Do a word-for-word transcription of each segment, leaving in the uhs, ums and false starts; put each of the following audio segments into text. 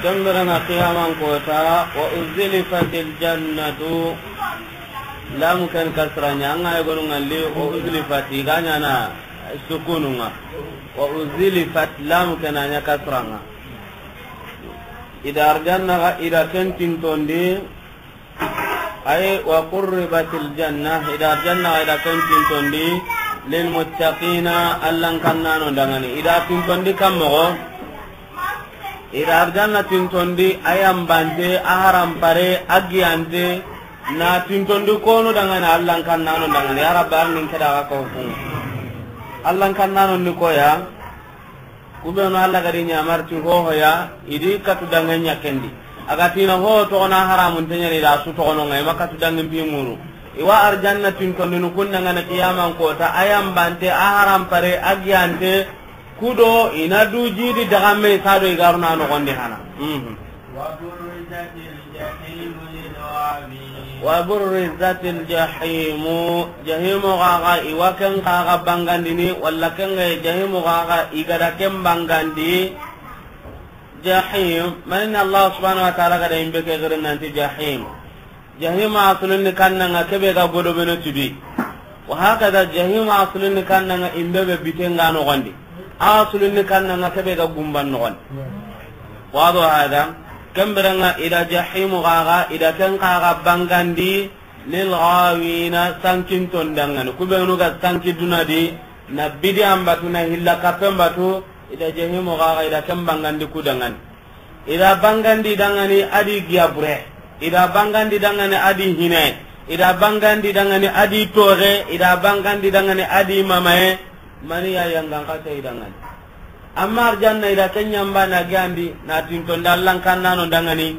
Ken bire ŋa qiyaman kota, wa uzlifatil jannatu. Lam ken kasra ɲa, an ga yogonu ŋalli, wa uzlifat, i ga ɲaana sukunu ŋa. Wa uzlifat, lam ken a ɲa kasra ŋa. I da arjanna ga, i da ken tintondi, Ay, wa qurribatil janna, i da arjanna, i da ken tintondi, lil muttaqina, Allan kannano dangani. I da tintondi kan moxo, i da arjanna tintondi, a yanbante, a harampare, a giyante, na tintondi konu dangani, Allan kannano dangani. Ya Rabbi, arnin keda ga ko kun. Allan kannano ni koya. Ku benu Alla ga di ɲamari ti hohoya, i di katu danŋe ɲa ken di. A ga ti na ho toxo na haramun te ɲaana, i da su toxono ŋa, i ma katu danŋe mpi muru. I wa arjanna tintondini kun dangani qiyaman kota, a yanbante, a harampare, a giyante, ku do i na du jidi daga me sa do i ga ru na noxondi hana. Mhm. وبرزت الجحيم للغاوين. وبرزت الجحيم. Jahimu xaxa, i wa ken xaxa bangandini, walla ken ga jahimu xaxa, i ga da ken bangandi. Jahim, mani na Allah subhanahu wa ta'ala ga da yinbe ke giri nanti jahim. Jahima asulunni kannanga kebe ga godo beno tudi. Wa hakada jahima asulunni kannanga imbe be bitenga noxondi. Asulunni kannanga kebe ga gumban noxondi. Wado hada, ken bire ŋa i da jahimu xaxa, i da ken xaxa bangandi lil ghawina, sankinton dangani. Ku benu ga sanki duna di, na bidiyan batu, na hilla kappen batu, i da jahimu xaxa, i da ken bangandi ku dangani. I da bangandi dangani a di giyabure, i da bangandi dangani a di hine, i da bangandi dangani a di toxe, i da bangandi dangani a di mamaye, mani ya yangan kata i dangani. Amma arjanna i da ken ɲamba na giyandi, na tintonda Allan kannano dangani,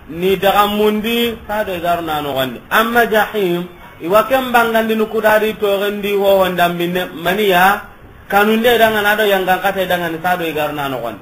ni daga mundi, sa do i ga ru na noxondi. Amma jahim, i wa ken bangandi ni ku da di toxen di hohon dambinne, mani ya kanunde dangani a do yangan kata i dangani, sa do i ga ru na noxondi.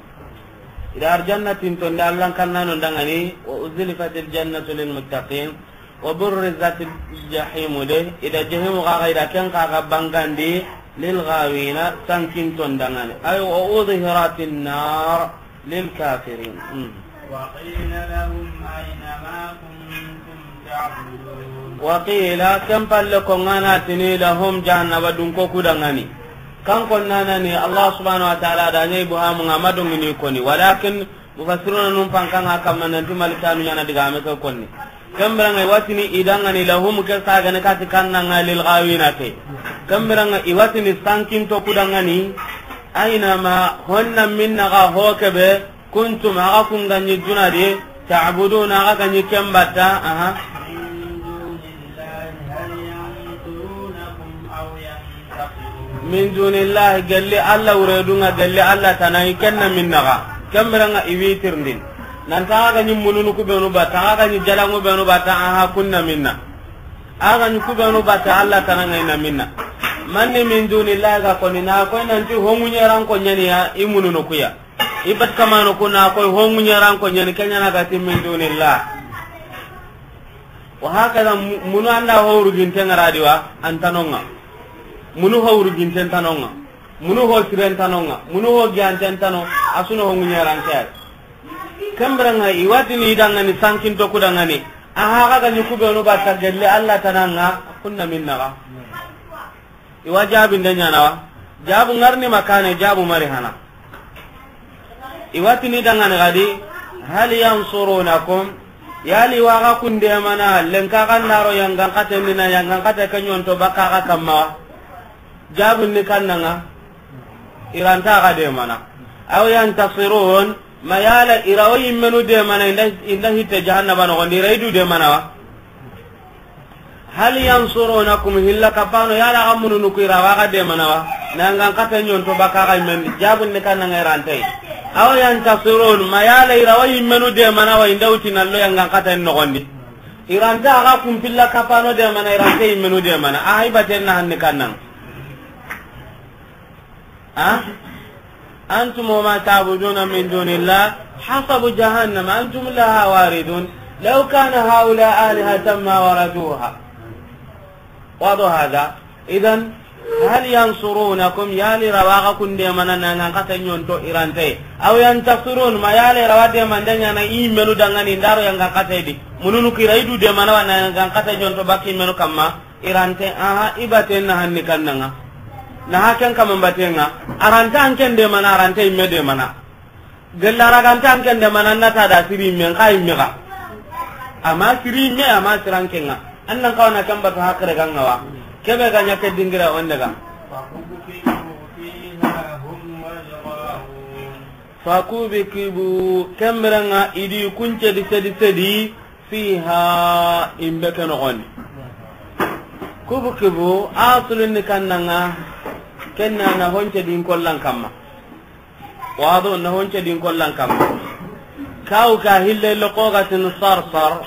I da arjanna tintonda Allan kannano dangani, wa uzlifatil jannatu lil muttaqin, wa burrizatil jahimu de, i da jahimu xaxa, i da ken xaxa bangandi, lil ghawina, sankinton dangani. Ay, wa udhiratin nar lil kafirin. Hmm. وقيل لهم أين ما كنتم تعبدون. Wa qila, ken palle ko ŋana tini lahum jahannaba dunko ku dangani. Kan konnanani Allah subhanahu wa ta'ala da ɲa ibuhamu ŋa ma dongini koni. Walakin mufassiruna nun pankanga kamma nanti malikanu ɲana digame ke konni. Ken bire ŋa i wa tini i dangani lahum ke sagane kati kannanga lil ghawina ke. Ken bire ŋa i wa tini sankinto ku dangani. Aina ma honna minna ga ho kebe. Kuntum, axa kun ga ɲi duna di, ta'buduna, axa ga ɲi ken batta, aha. من دون الله، هل ينصرونكم أو ينتصرون؟ Min dunillahi, gelli Alla wuredunŋa, gelli Alla tana, i ken na minna ga. Ken bire ŋa i wi tirindini. Nanta axa ga ɲi mununu ku benu batta, axa ga ɲi jalanŋu benu batta, aha, kun na minna. Axa ga ɲi ku benu batta, Alla tana ŋa i na minna. Manni min dunillahi ga koni na koy nanti hongu ɲeran ko ɲaniya, i mununu kuya. I bat kamano kuna koy hongu ɲeran ko ɲani ke ɲana ga ti min dunillah. Wa hakada mu-, munu anda ho wuruginte ŋa ra di wa, an tano ŋa. Munu ho wuruginte tano ŋa. Munu ho siren tano ŋa. Munu ho giyanten tano, a su na hongu ɲeran ke ay. Ken bire ŋa i wa tini i dangani sankinto ku dangani. Aha, axa ga ɲi ku benu batta gelli Alla tana ŋa, kun na minna ga. I wa jaabinde ɲana wa? Jaabu ŋa ri ni ma kane, jaabu mari hana. I wa tini dangani ga di, hal yansurunakum, yali wa axa kun demana, lenka ga na ro yangan katen di na yangan kate ke ɲonto baka axa kamma wa? Jaabu ni kannanga, i ra nta axa demana. Aw yantasirun, ma yala i ra wo yimmenu demana, i nda, i nda hitte jahannaba noxon di, i ra i du demana wa? Hal yansurunakum, hilla kapano, yala axa mununu ku i ra wa axa demana wa? Na yangan kate ɲonto baka axa yimmen di, jaabu ni kannanga i ra nta yi. Aw yantasirun, ma yala i ra wo yimmenu demana wa, i nda wuti na lo yangan kate noxon di. I ra nta axa kun pilla kapano demana, i ra nta yimmenu demana. Aha, i baten na hanni kannanga. Ha? أنتم وما تعبدون من دون الله حصب جهنم أنتم لها واردون لو كان هؤلاء آلهة ما وردوها. واضح هذا؟ Idan, hal yansurunakum, yali ra wa ga kun demana na yangan kata ɲonto i ra nte? Aw yantasirun, ma yali ra wa demande ɲaana i menu dangani ndaro yangan kata di? Mununu ku i ra i du demana wa na yangan kata ɲonto baki menu kamma i ra nte? Aha, i baten na hanni kannanga. Na haken kamma batenga. A ra nte an ken demana, a ra nte i me demana. Gella ra ga nta an ken demana, an na ta da siri me, nxa i me ga. Ama siri me, ama sirankenga. An nan kawana kan batu hakre ganga wa. Kebe ga ɲa ke dingira wonde ga. فكبكبوا فيها هم والغاوون. Fakubikibu, kemberenga i di kunce di sedi sedi, fiha, i be ke noxondi. Kubukibu, asulin ni kannanga, kenna na honce din kollan kamma. Wado na honce din kollan kamma. Kaw ka hille lo ko ga tin sarsar.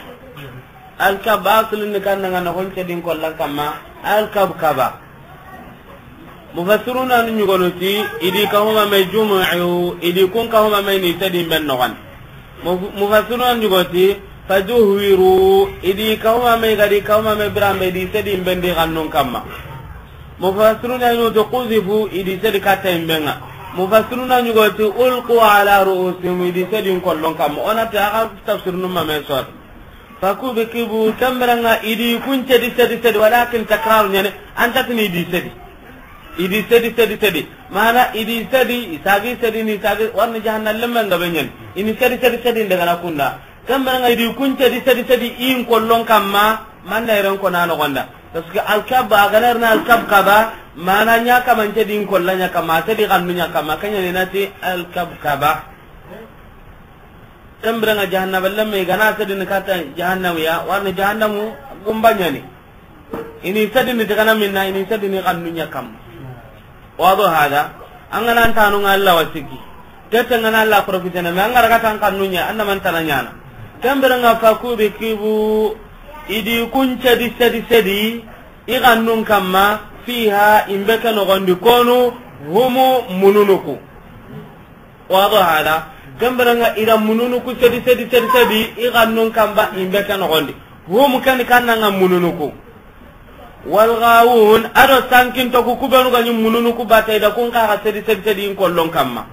Alkab aslun ni kannanga na honce din kollan kamma. Alkabkaba. Mufassiruna ni ɲugonoti, i di kahuma me jumu'u, i di kun kahuma me ni sedin ben noxon. Muf-, mufassiruna ni ɲugoti, fajuhwiru, i di kahuma me ga di kahuma me birambe di sedin ben di gannun kamma. Mufassiruna ɲugo ti quzifu, i di sedi katta i be ŋa. Mufassiruna ɲugo ti ulqu ala ru'usihim, i di sedi n kollon kamma. O na ti a ga tafsirunu ma me sor. Fakubikibu, kemberenga i di kunce di sedi sedi, walakin takraru ɲani, an ta tini i di sedi. I di sedi sedi sedi. Mana i di sedi, i sagi sedi ni sagi, warni jahannam lemmen ga be ɲani. I ni sedi sedi sedi ndegana kunda. Kemberenga i di kunce di sedi sedi i n kollon kamma, manna iren kona noxonda. Parce que alkab, a ga na ri na alkabkaba, mana ɲa kamance di n kolla ɲa kamma, sedi xannu ɲa kamma, kenya ni na ti alkabkaba. Kemberenga jahannaba lemme i ga na sedi ni katta jahannamu ya, warni jahannamu gumba ɲani. I ni sedi ni tigana minna, i ni sedi ni xannu ɲa kamma. Wado hada, an ga na an tanu ŋa Allah wasiki. Tete ŋa na Allah profitene, me an ga ra ga tan xannu ɲa, an na man tana ɲana. Kemberenga fakubikibu, i di kunce di sedi sedi, i xannun kamma, fiha, i be ke noxondi konu, humu mununuku. Wado hada, kemberenga i da mununuku sedi sedi sedi sedi, i xannun kamma, i be ke noxondi. Humu ken kannanga mununuku. Walghawun, ado sankinto ku, ku benu ga ɲi mununuku bata i da kun kaxa sedi sedi sedi i n kollon kamma.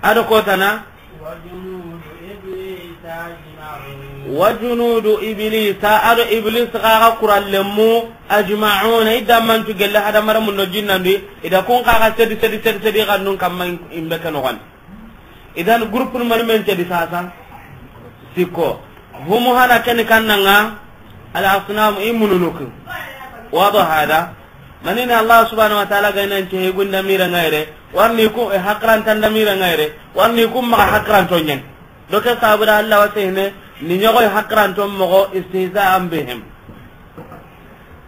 Ado kotana. وجنود إبليس أجمعون. وجنود إبليس, ado Iblis xaxa kurallemu, ajma'una, i dammantu gelle hadamaramun do jinnandi, i da kun kaxa sedi sedi sedi sedi i xannun kamma i be ke noxondi. Idan groupe ni mani men cedi sasa? Sikko. Humu hana keni kannanga al asnam i mununuku. Wado hada. Manini Allah subhanahu wa ta'ala ga nan ce gunda mira ngaire. Warni ku e hakran tanda mira ngaire. Warni ku ma hakran to nyen. Doke sabura Allah wa sehne ni nyogo hakran to mogo istihza'an bihim.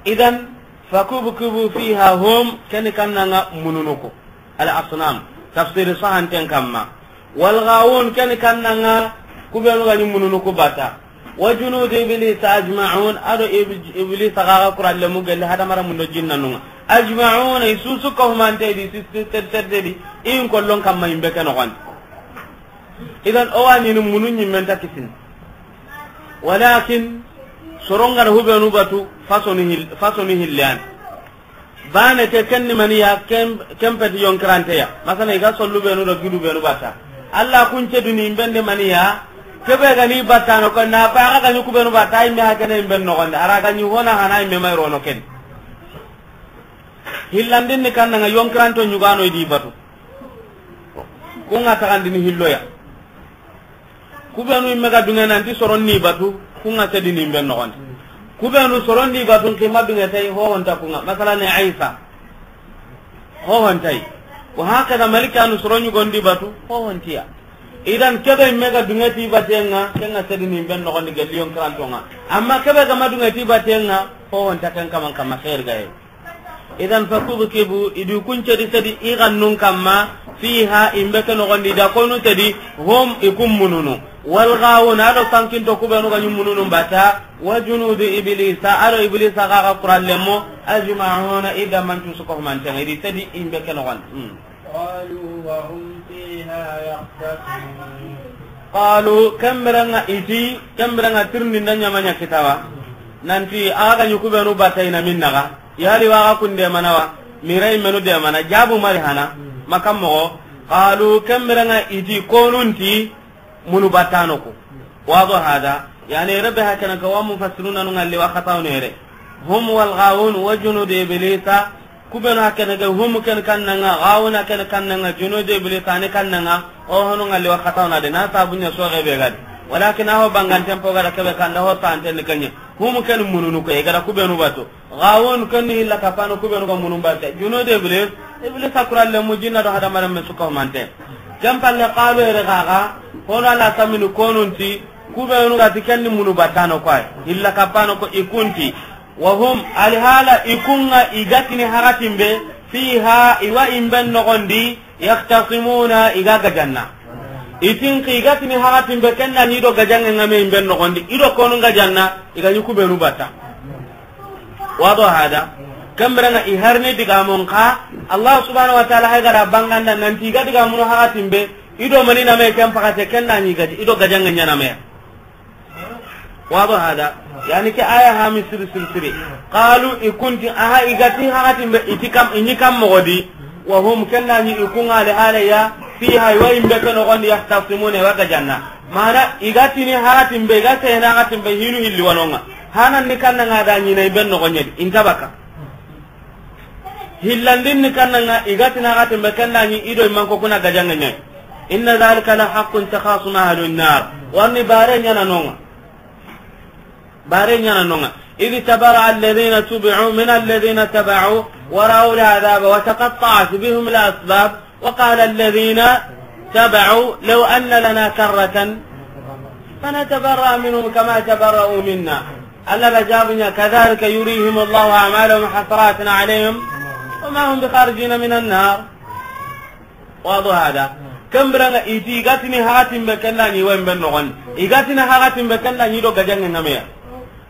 Idan fakubukibu fiha hum keni kannanga mununuku. Al asnam, tafsiri sahanten kamma. Wal ghawun, keni kannanga, ku benu ga ɲi mununuku bata. Wa junud iblis ajma'un, ado ib-, iblis xaxa kurallemu gelle hadamaramun do jinnanunga. Ajma'un, i susu kahumante di, sisi ter ter ter di, i n kollon kamma i be ke noxondi. Idan o wa ɲini munu ɲimmen ta kisini. Walakin soronga da hubenu batu fasoni hil-, fasoni hillan. Bane ke kenni maniya kem-, kempeti yonkirante ya. Masala i ga sollu benu do gidu benu bata. Allah kunce duni i be ndi maniya. Kebe ga ni bata no ko na ko aga ga ni ku benu bata i me hakene i be noxondi. Ara ga ni hona hana i me may rono ken. Hillandin ni kannanga yonkiranto ɲugano i di batu. Kunga taxandini hilloya. Ku benu i me ga dunge nanti soron ni batu, kunga sedini i be noxondi. Ku benu soron ni batu, n kima dunge tay, hohonta kunga. Masalan, Isa. Hohontay. Wa hakada malikanu soron ɲugondi batu, hohontiya. Idan kebe i me ga dunge ti batenga, kenga sedini i be noxondi gelli yonkirantonga. Amma kebe ga ma dunge ti batenga, hohonta ken kaman kamma khair gaye. Idan fakubikibu, i di kunce di sedi i xannun kamma, fiha, i be ke noxondi da konu sedi, hum, i kun mununu. Wal ghawun, ado sankinto ku benu ga ɲi mununu bata, wa junudu iblisa, ado iblisa xaxa kurallemu, ajma'una, i dammantu su ko humantenga, i di sedi i be ke noxondi. Hmm. قالوا وهم فيها يختصمون. Qalu, kemberenga i ti, kemberenga tirni nda ɲamanya kitawa. Nanti, aga ɲi ku benu bata i na minnaga. Yali wa ga kun demana wa? Mira i menu demana, jabu mari hana. Makan moxo, qalu, ken biren ŋa i ti, konun ti munu battano ku. Wado hada, yani, rebe hakana ka wa mufassiruna nu ŋalli wa xataw nere. Hum wal ghawun wa junud iblisa, ku benu hakana ga hum ken kannan ŋa, ghawun ken kannan ŋa, junud iblisa ni kannan ŋa, o honu ŋalli wa xataw na de, na sabu ɲa soxe be gadi. Walakin aho banganten po gada kebe kanda ho tanten ni kanye. Hum ken mununu ko, e gada ku benu batu. Gawun ken ni hilla kapano ku benu ga munun batte. Junud iblis, iblis a kuralle mu jinna do hadamaren me suka humante. Ken palle qalu ere gaga, hono ala saminu konun ti, ku benu ga ti ken ni munu battano ko ay. Hilla kapano ko i kun ti. Wa hum, alhala i kun ŋa i ga tini hakatin be, fiha, i wa i mben noxon di, yakhtasimuna, i ga gajanna. I tin ki i ga tini hakatin be ken na ni do gajanŋe ŋa me i mben noxon di. I do konun gajanna, i ga ni ku benu batta. Wado hada. Ken biren ŋa i harni digamon ka, Allah subhanahu wa ta'ala hay gada banganda nanti i ga digamunu hakatin be, i do mani na me ken pakate ken na ni gadi, i do gajanŋe ɲa na me. Wado hada. Yani ke aya ha mi siri siri siri. Qalu i kun ti aha i ga ti hakatin be i ti kam, i ni kam moxo di. Wa hum ken na ni i kun ŋa alhala ya, fiha i wa i mbe ke noxon di yakhtasimuna i wa gajanna. Mana i ga tini hakatin be, i ga sehena hakatin be hinu hilli wanonga. Hanan ni kannan ŋa da ɲi na i mben noxon ɲa di, i nta baka. Hillandin ni kannan ŋa i ga tini hakatin be ken na ni i do i manko kuna gajanŋe ɲa. Inna dhalika la haqqun takhasum ahlun nar. Warni bare ɲa na nonga. Bare ɲa na nonga. Idh tabarra'a alladhina tubi'u min alladhina taba'u wa ra'u al'adhaba wa taqatta'at bihim al'asbab. وقال الذين تبعوا لو أن لنا كرة فنتبرأ منهم كما تبرأوا منا. Allah da jabunya, كذلك يريهم الله أعمالهم حسرات عليهم وما هم بخارجين من النار. Wado hada. Ken biren ŋa i ti i ga tini hakatin be ken na ni wa i mben noxon di. I ga tini hakatin be ken na ni do gajanŋe ŋa me ya.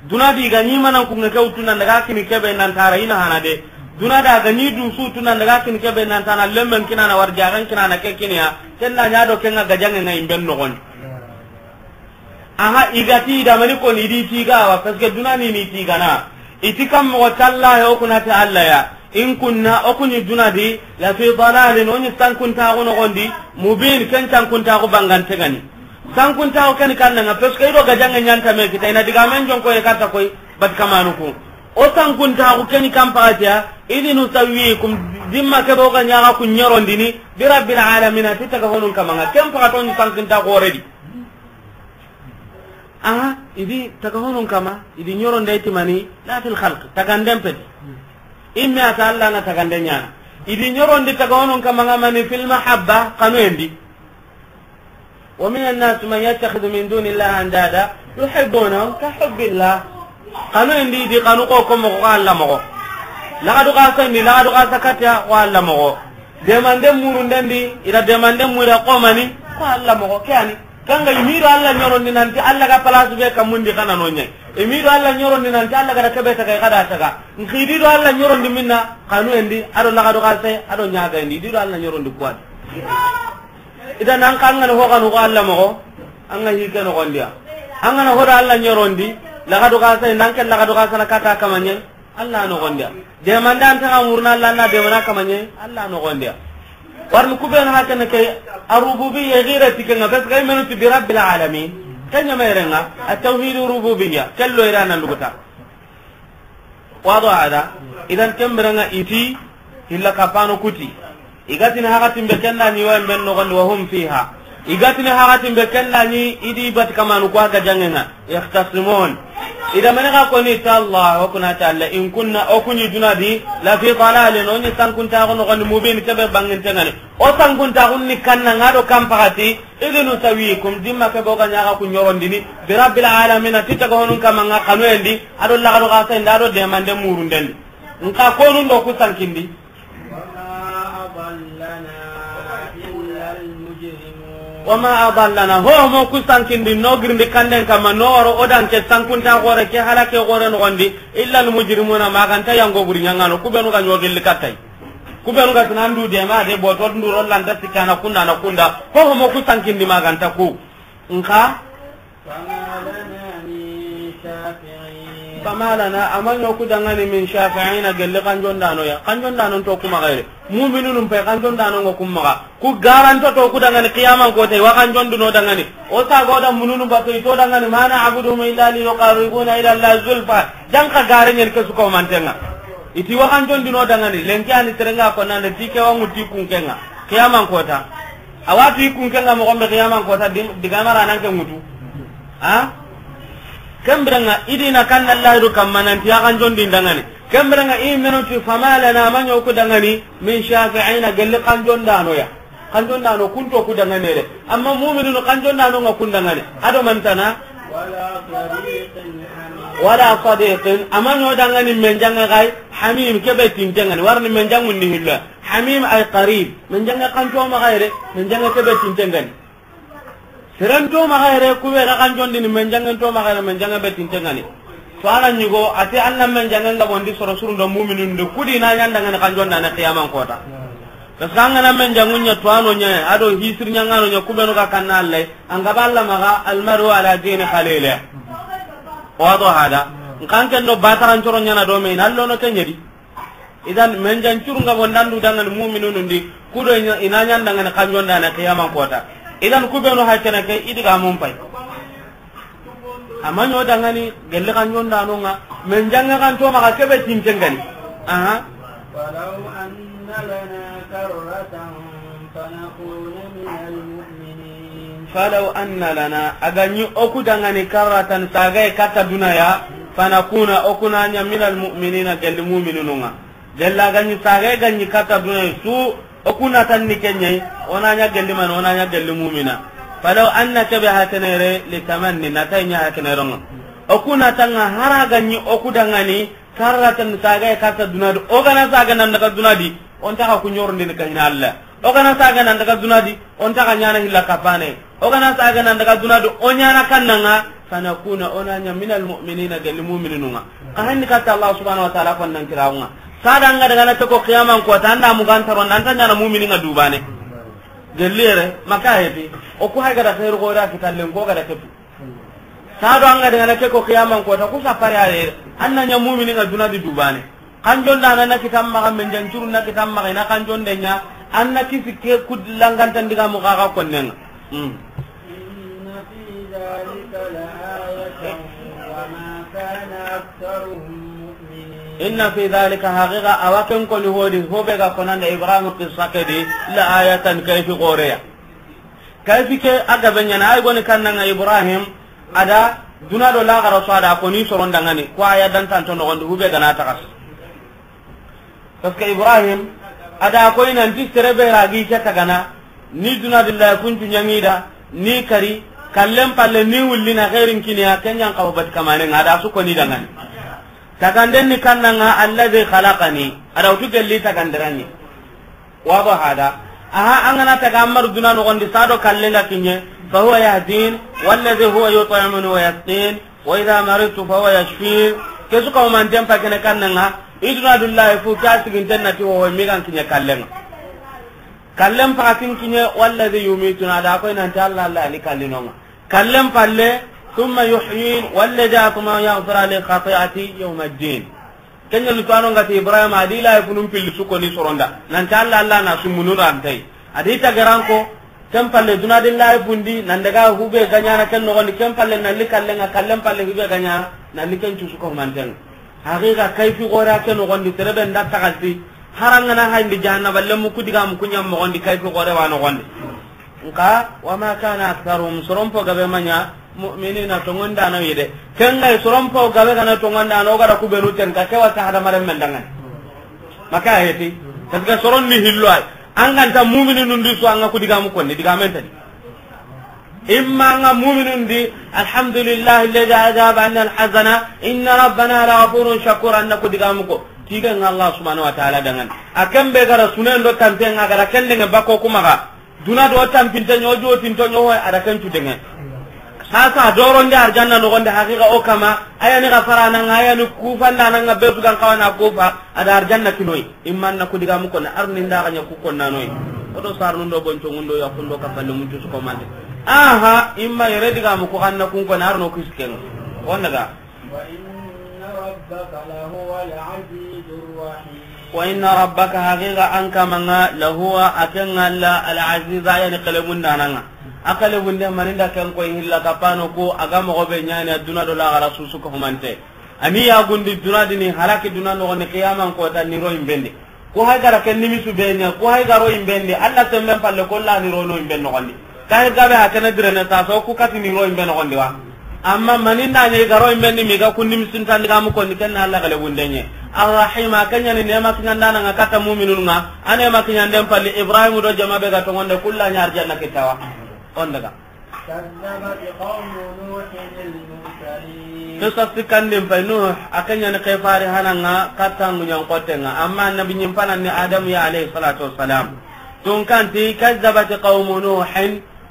Duna di ga ni manan kun ŋa ke wutu nan daga kini kebe nan tara ina hana de. Duna da ga ni du su tu nan daga kini kebe nan tana lemmen kinana warjagan kinana ke kiniya. Ken na ɲa do ken ŋa gajanŋe ŋa i mben noxon di. Aha, i ga ti da mani ko ni di tiga wa, parce que duna ni ni tigana. I ti kam moxo tallahi o kuna ti Allah ya. In kunna, o kuni duna di, la fi dalalin, o ni sankuntaxu noxon di, mubin, ken sankuntaxu bangante ŋa ni. Sankuntaxu ken kannan ŋa, parce que i do gajanŋe ɲa nta me kita, i na digamen jonko ye katta koy, bat kamanu ku. O sankuntaxu ken kan pakatiya, idh nusawwikum, dimma kebe o ga ɲa ga ku ɲorondini, bi rabbil alamin, ti taga honun kaman ŋa, ken pakato ni sankuntaxu xore di. Aha, i di taga honun kama, i di ɲoronde ti mani, la fil khalq, taganden peti. Imme a ta Allah na taganden ɲana. I di ɲorondi taga honun kama ŋa mani fil mahabba, xanuyen di. Wa minan nas man yattakhidhu min dunillahi andada, yuhibbunahum ka hubbillah. Xanuyen di, i di xanu ko ko moxo ko Allah moxo. Laxadu xasen di, laxadu xasa katiya ko Allah moxo. Demanden murunden di, i da demanden mura ko mani, ko Allah moxo, ke yani. Kanga i mi do Allah ɲorondi nanti Allah ga place be kamundi xana no ɲa. I mi do Allah ɲorondi nanti Allah ga da kebe taga, i ga da taga. Nxi di do Allah ɲorondi minna, xanuyen di, a do laxadu xase, a do ɲagayen di, i di do Allah ɲorondi kuwa di. Idan an xa an ga na ho xanu ko Allah moxo, an ga hi ke noxon di ya. An ga na ho do Allah ɲorondi, laxadu xase, nan ke laxadu xase na kata kamaɲe. Allah noxon di ya. Demande an taga muruna Allah na demana kamaɲe, Allah noxon di ya. Warni ku benu hakene ke, ar-rububiyya gira ti ken ŋa, parce que i menu ti bi rabbil alamin. Ken ɲa me ren ŋa, at-tawhid rububiyya, ken lo ira nan duguta. Wado hada, idan ken biren ŋa i ti, hilla kapano ku ti. I ga tini hakatin be ken na ni wa i mben noxon di wa hum fiha. I ga tini hakatin be ken na ni i di bat kamanu ko a gajanŋe ŋa. Yakhtasimun. I da mani ga ko ni ta Allah, o kuna ta Allah, in kunna, o kuni duna di, la fi dalalin, o ni sankuntaxu noxon di, mubin, kebe banginte ŋa ni. O sankuntaxu ni kannan ŋa do kan pakati, idh nusawwikum, dimma kebe o ga ɲa ga ku ɲorondini, bi rabbil alamin, ti taga honun kama ŋa xanuyen di, a do laxadu xasen di, a do demanden murunden di. Nxa konun do ku sankindi. وما أضلنا إلا المجرمون. Wa ma adallana, ho mo ku sankindi no girindi kanden kama, no waro o dan ke sankunta xore ke halake xore noxon di, illa al mujrimuna, ma ganta yango buri ɲangano, ku benu ga ɲogilli kattay. Ku benu ga tinandu de ma de boto ndu rollanta sikana kunda na kunda, ho mo ku sankindi ma ganta ku. Nxa فما لنا من شافعين. Fama lana, a ma ɲa o ku danŋa ni, min shafi'ina, gelli kanjondaano ya. Kanjondaano nto ku maxa yere. Mu'minunun pe kanjondaano ŋa ku maxa. Ku garanto to ku danŋa ni qiyaman kota, i wa kanjondini o danŋa ni. O saga o da mununu bato i to danŋa ni, ma na'buduhum illa liyuqarribuna ila Allahi zulfa. Janka gare ɲen ke su ko mantenŋa. I ti wa kanjondini o danŋa ni, lenki a ni terenŋa ko nande ti ke wa ŋuti kunkenŋa. Qiyaman kota. A wa tu i kunkenŋa moxo be qiyaman kota di-, diga mara nan ke ŋutu. Ha? Ken birenŋa i di na kanna Allahi du kamma nanti ya kanjondini danŋa ni. Ken birenŋa i menu ti fama lana, a ma ɲa o ku danŋa ni, min shafi'ina, gelli kanjondaano ya. Kanjondaano ku nto ku danŋa ni yere. Amma mu'minunu kanjondaano ŋa ku danŋa ni. A do mantana. Wala sadiqin hamim. Wala sadiqin, a ma ɲa o danŋa ni menjanŋa ga yi, hamim, ke be tintenŋa ni. Wari ni menjanŋun ni hillo. Hamim ay qarib. Menjanŋa kanto maxa yere, menjanŋa ke be tintenŋa ni. Seren to maxa yere, ku be ga kanjondini menjanŋen to maxa yere, menjanŋa be tintenŋa ni. To a na ɲigo, a ti an na menjanŋen ga bondi soro surun do mu'minun do, ku di na ɲa danŋa ni kanjondaana qiyaman kota. Parce que an ga na menjanŋun ɲa to a no ɲa, a do hisir ɲaŋaano ɲa, ku benu ga kanna Alla, an ga ba Alla maxa, almaru ala dini khalili. Wado hada. Nkan ken do bataran coro ɲaana do me, na lono ke ɲa di. Idan, menjan curu nga bondandu danŋa ni mu'minunun di, ku do i na ɲa danŋa ni kanjondaana qiyaman kota. Idan, ku benu haykene ke, i diga mun pay. A ma ɲa o danŋa ni, gelli kanjondaano ŋa, menjanŋa kanto maxa ke be tintenŋa ni. Aha. ولو أن لنا كرة فنكون من المؤمنين. Falaw anna lana, a ga ɲi o ku danŋa ni karratan, saage katta duna ya, fanakuna, o ku na ɲa minal mu'minina, gelli mu'minunun ŋa. Gelli a ga ɲi saage ga ɲi katta duna ya su, o ku na tan ni ke ɲa yi, o na ɲa gelli mani, o na ɲa gelli mu'mina. Falaw anna, ke be haykene yere, li tamanni, na ta ɲa haykene yere ŋa. O ku na tan ŋa hara ga ɲi o ku danŋa ni, karratan, saage katta duna di, o ga na saage nan daga duna di, o nta xa ku ɲorondini ka hina Alla. O ga na saage nan daga duna di, o nta xa ɲaana hilla kapane. O ga na saage nan daga duna di, o ɲaana kannanŋa, fanakuna, o na ɲa minal mu'minina, gelli mu'minunun ŋa. Xa hanni katta Allah subhanahu wa ta'ala konnan kirawo ŋa. Sada an ga daga na ke ko qiyaman kota, an da mugan taron, an ta ɲaana mu'minin ŋa dubane. Gelli yere, maka heti, o ku hay ga da xeeru xo ra kitallen ko ga da ketu. Sado an ga daga na ke ko qiyaman kota, ku sapare a yere. An na ɲa mu'minin ŋa duna di dubane. Kanjondaana na kitan maxa, menjan curu na kitan maxa, i na kanjonde ɲa, an na kisi ke ku langantan digamu xa ga konnenŋa. Hmm. إن في ذلك لآية وما كان أكثرهم مؤمنين. Inna fi dhalika, haqiqa, a wa ken koni hodi, ho be ga konanda Ibrahim qissa ke di, la ayatan, kayfi xoreya. Kayfi ke a gabe ɲaana, ay goni kannanŋa Ibrahim, a da duna do laxara su a da koni soron danŋa ni, ko a ya dantanto noxon di, hube ga na taxas. Parce que Ibrahim, a da koy nanti sere be ra gi ke tagana, ni duna di layifu ncu ɲaŋi da, ni kari, kallen palle ni wulli na xeerin kini ya, ken ɲan xawa bat kamanen ŋa, a da su koni danŋa ni. Taganden ni kannanŋa, alladhi khalaqani, a da wutu gelli tagandiranni. Wado hada. Aha, an ga na taga an maru duna noxon di, sado kallen ga kiɲe, fa huwa yahdin, walladhi huwa yut'imuni wa yasqin, wa idha maridtu fa huwa yashfin. Ke su ka o manten pa kene kannanŋa, i duna du layifu, ke a siginten na ti ho, mi ga n kiɲe kallen ŋa. Kallen pakatin kiɲe, walladhi yumituni, a da koy nanti Alla, Alla ni kallinonŋa. Kallen palle, thumma yuhyin, walladhi atma'u an yaghfira li khati'ati yawma ddin. Ken ɲa ni to a no nga ti Ibrahim a di layifunun pilli su koni soronda. Nanti Alla, Alla na sumunu rantay. A di tageran ko, ken palle duna di layifun di, nan daga hube ga ɲaana ken noxon di, ken palle nan li kallen ŋa, kallen palle hube ga ɲaana, nan li ken cu su ko manten. Haqiqa kayfi xore a ke noxon di, sere be nda taxalti, harangana hayndi jahannaba lemu ku digamu ku ɲa moxon di, kayfi xore wa noxon di. Nka, wa ma kana aktharuhum, soron po gabe ma ɲa, mu'minina, tonŋondaano yi de. Ken ga yi soron po gabe ga na tonŋondaano, o ga da ku benu ten ka, ke wa ta hadamaren men danŋa ni. Maka heti. Parce que soron ni hillo ay. An ga nta mu'mininun di su, an ga ku digamu konni, digamen tadi. Imma an ga mu'minun di, alhamdulillahi alladhi adhaba anna alhazana, inna rabbana laghafurun shakur, an na ku digamu ko. Tigen Allah subhanahu wa ta'ala danŋa ni. A ken be ga ra sunen do tanten ŋa ga ra ken danŋa bako kuma ga. Duna do tampinte ɲo, jotinto ɲo, a da ken cu danŋa. Sasa, doronde arjanna noxon di, haqiqa o kama, a ya ni xafarana ŋa, a ya ni kufandana ŋa, be su ga n xawa na kufa, a da arjanna kinoyi. Imma an na ku digamu koni, ar ni nda xa ɲa ku konnanoyi. O do sarnun do bonconŋun do yaxun do kafalle mun cu su ko mande. Aha, imma yere digamu ko xa na kun koni, ar no kisi ken ŋa. O n daga. ربك لهو العزيز الرحيم. Wa inna rabbaka, haqiqa an kamanŋa, lahuwa, a kenŋa la al-aziz, a yani xelemundaananŋa. A xelemunde maninda ken koy hilla kapano ko, a ga moxo be ɲaani a duna do laxara su su ka humante. A ni yagundi duna di ni halaki duna noxondi qiyaman kota ni ro yinben di. Ku hay gara ken nimisu be ɲa, ku hay garo yinben di, Alla semben palle ko la ni ro no yinben noxondi. Kahi gabe ha kene direne sasa, o ku kati ni ro yinbe noxondi wa. Amma maninda ɲa i ga ro yinbe ni mi ga ku nimisintandi ga mu konni ken na Alla xelegunde ɲa. Arrahim, a ken ɲa ni nema kiɲandaananŋa katta muminunŋa, a nema kiɲanden palli Ibrahim do jama be ga tongonde kulla ɲa arjanna kitta wa. On daga. كذبت قوم نوح المرسلين. Qissa sikkandin pay Nuh, a ken ɲa ni xefari hananŋa katta ŋuɲan xottenŋa, amma annabi ɲimpananni Adamu ya alayhi salatu wassalam. Tunkanti, كذبت قوم نوح.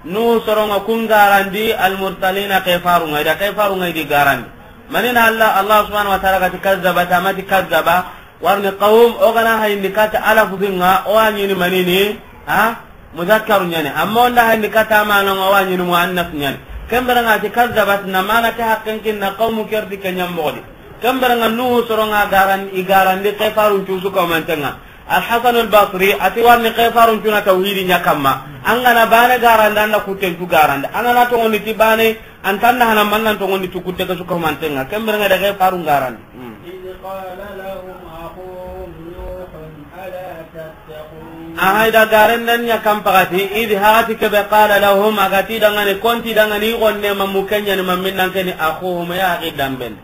Nuhu soronŋa kun garandi, al-mursalina, kefarunŋa, i da kefarunŋa i di garandi. Manina Allah, Allah subhanahu wa ta'ala gati kazzabat, amati kazzaba, warni qawm, o gana hayindi kata ala fusinŋa, o wa ɲini manini, ha? Muzakkaru ɲani. Amma onda hayindi kata mananŋa, o wa ɲini muannas ɲani. Kemberenŋa ti kazzabat, na mana ke haqqen kinna qawmu kerdi ke ɲammogodi. Kemberenŋa Nuhu soronŋa garan, i garandi kefarun cusu kaumantenŋa. Al-Hasan al-Basri ati warni kefarun cuna tawhidi ɲa kamma. An gana bane garanda, an da kutten cu garanda. An gana tongondi ti bane, an tanda hana mannan tongondi tu kutte ke su kahumantenŋa. Kemberenŋa da kefarun garandi. Hmm. إذ قال لهم أخوهم نوح ألا تتقون. Aha, i da garanden ɲa kan pagati, idi hagati kebe qala lahum, a gati dangani, konti dangani, i gonne ma mukeɲani, ma minnan keni, akhuhum, ya axi damben.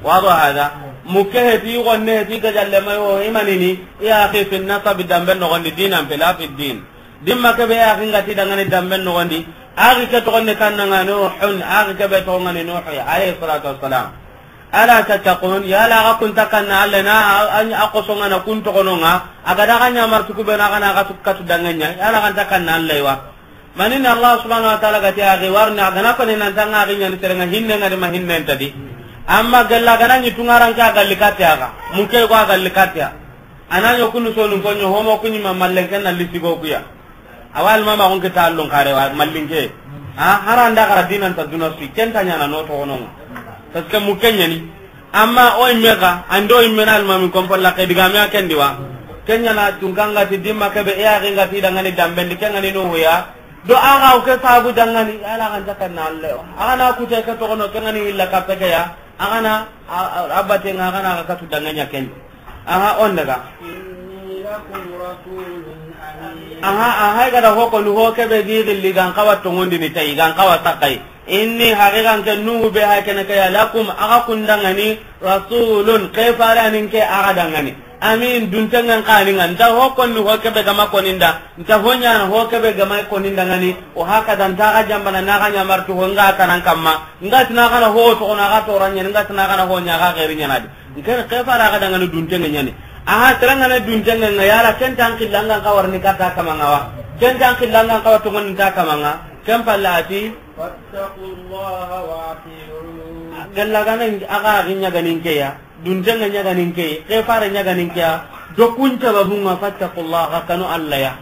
Wado hada, mukke heti, gonne heti, gajalle mayo, imanini, ya axi fi nasabi damben nogondi, dinan pe la fi din. Dimma kebe ya axi ngati dangani damben nogondi, axi ke togonne kannanga Nuhun, axi kebe togongani Nuhu ya, alayhi salatu wassalam. Ala tattaqun, yala aga kun takanna Allah na, a, a, a kosongana kun togononga, aga daga ɲamartu kubena, aga na aga tu katu danganya, yala aga takanna Allah wa. Manini Allah subhanahu wa ta'ala gati axi warni, agana koni nantanga axi ɲani serenŋa hinne ngadi ma hinne ntadi. Amma gella gana ɲi tungaranke agalli kati aga. Muke ko agalli kati a. Ana ɲo kunu sonu konyo homo kunyi ma mallen ken na lisigo kuya. Awal mama gon ke tallon kare wa mallinke. Ha, haranda gara dinan ta duna sui kenta ɲana no togononga. Parce que muke ɲani. Amma o imme ga, ando imme na almami kompo la ke digame a kendi wa. Kenya na tunkanga ti dimma kebe e a ginga ti dangani dambendi kengani no huya. Do aga o ke sabu dangani, ala kan takanna Allah. Aga na kute ke togono kengani illa kapeke ya. Aga na, a, a, abate nga aga na aga katu danganya ken. Aha, on daga. إني لكم رسول أمين. Aha, aha, gada hoko ni ho kebe gi gilli gan kawa tongondi ni tayi, gan kawa sakai. Inni haqiqan ke Nuhu be ha kene ke ya lakum, aga kun dangani, rasulun, ke faranin ke aga dangani. Amin, duntengan kaninga, nta ho konni ho kebe gama koninda, nta ho ɲana ho kebe gama koninda ngani, o hakada nta ga jambana na ga ɲamartu ho nga kanan kamma, nga tina kana ho to na ga to ranya, nga tina kana ho ɲa ga gairi ɲana di. Nke ke fara ga dangani duntenga ɲani. Aha, terangana duntenga nga yala kentan killanga kawarni kata kamanga wa. Kentan killanga kawa tongoninta kamanga. Ken pallati. فاتقوا الله وأطيعون. Galla gana aga ginya ganin ke ya. Duntenga ɲa ganin ke, ke fare ɲa ganin ke ya. Do kun sababunga fattaqullaha, kanu Allah ya.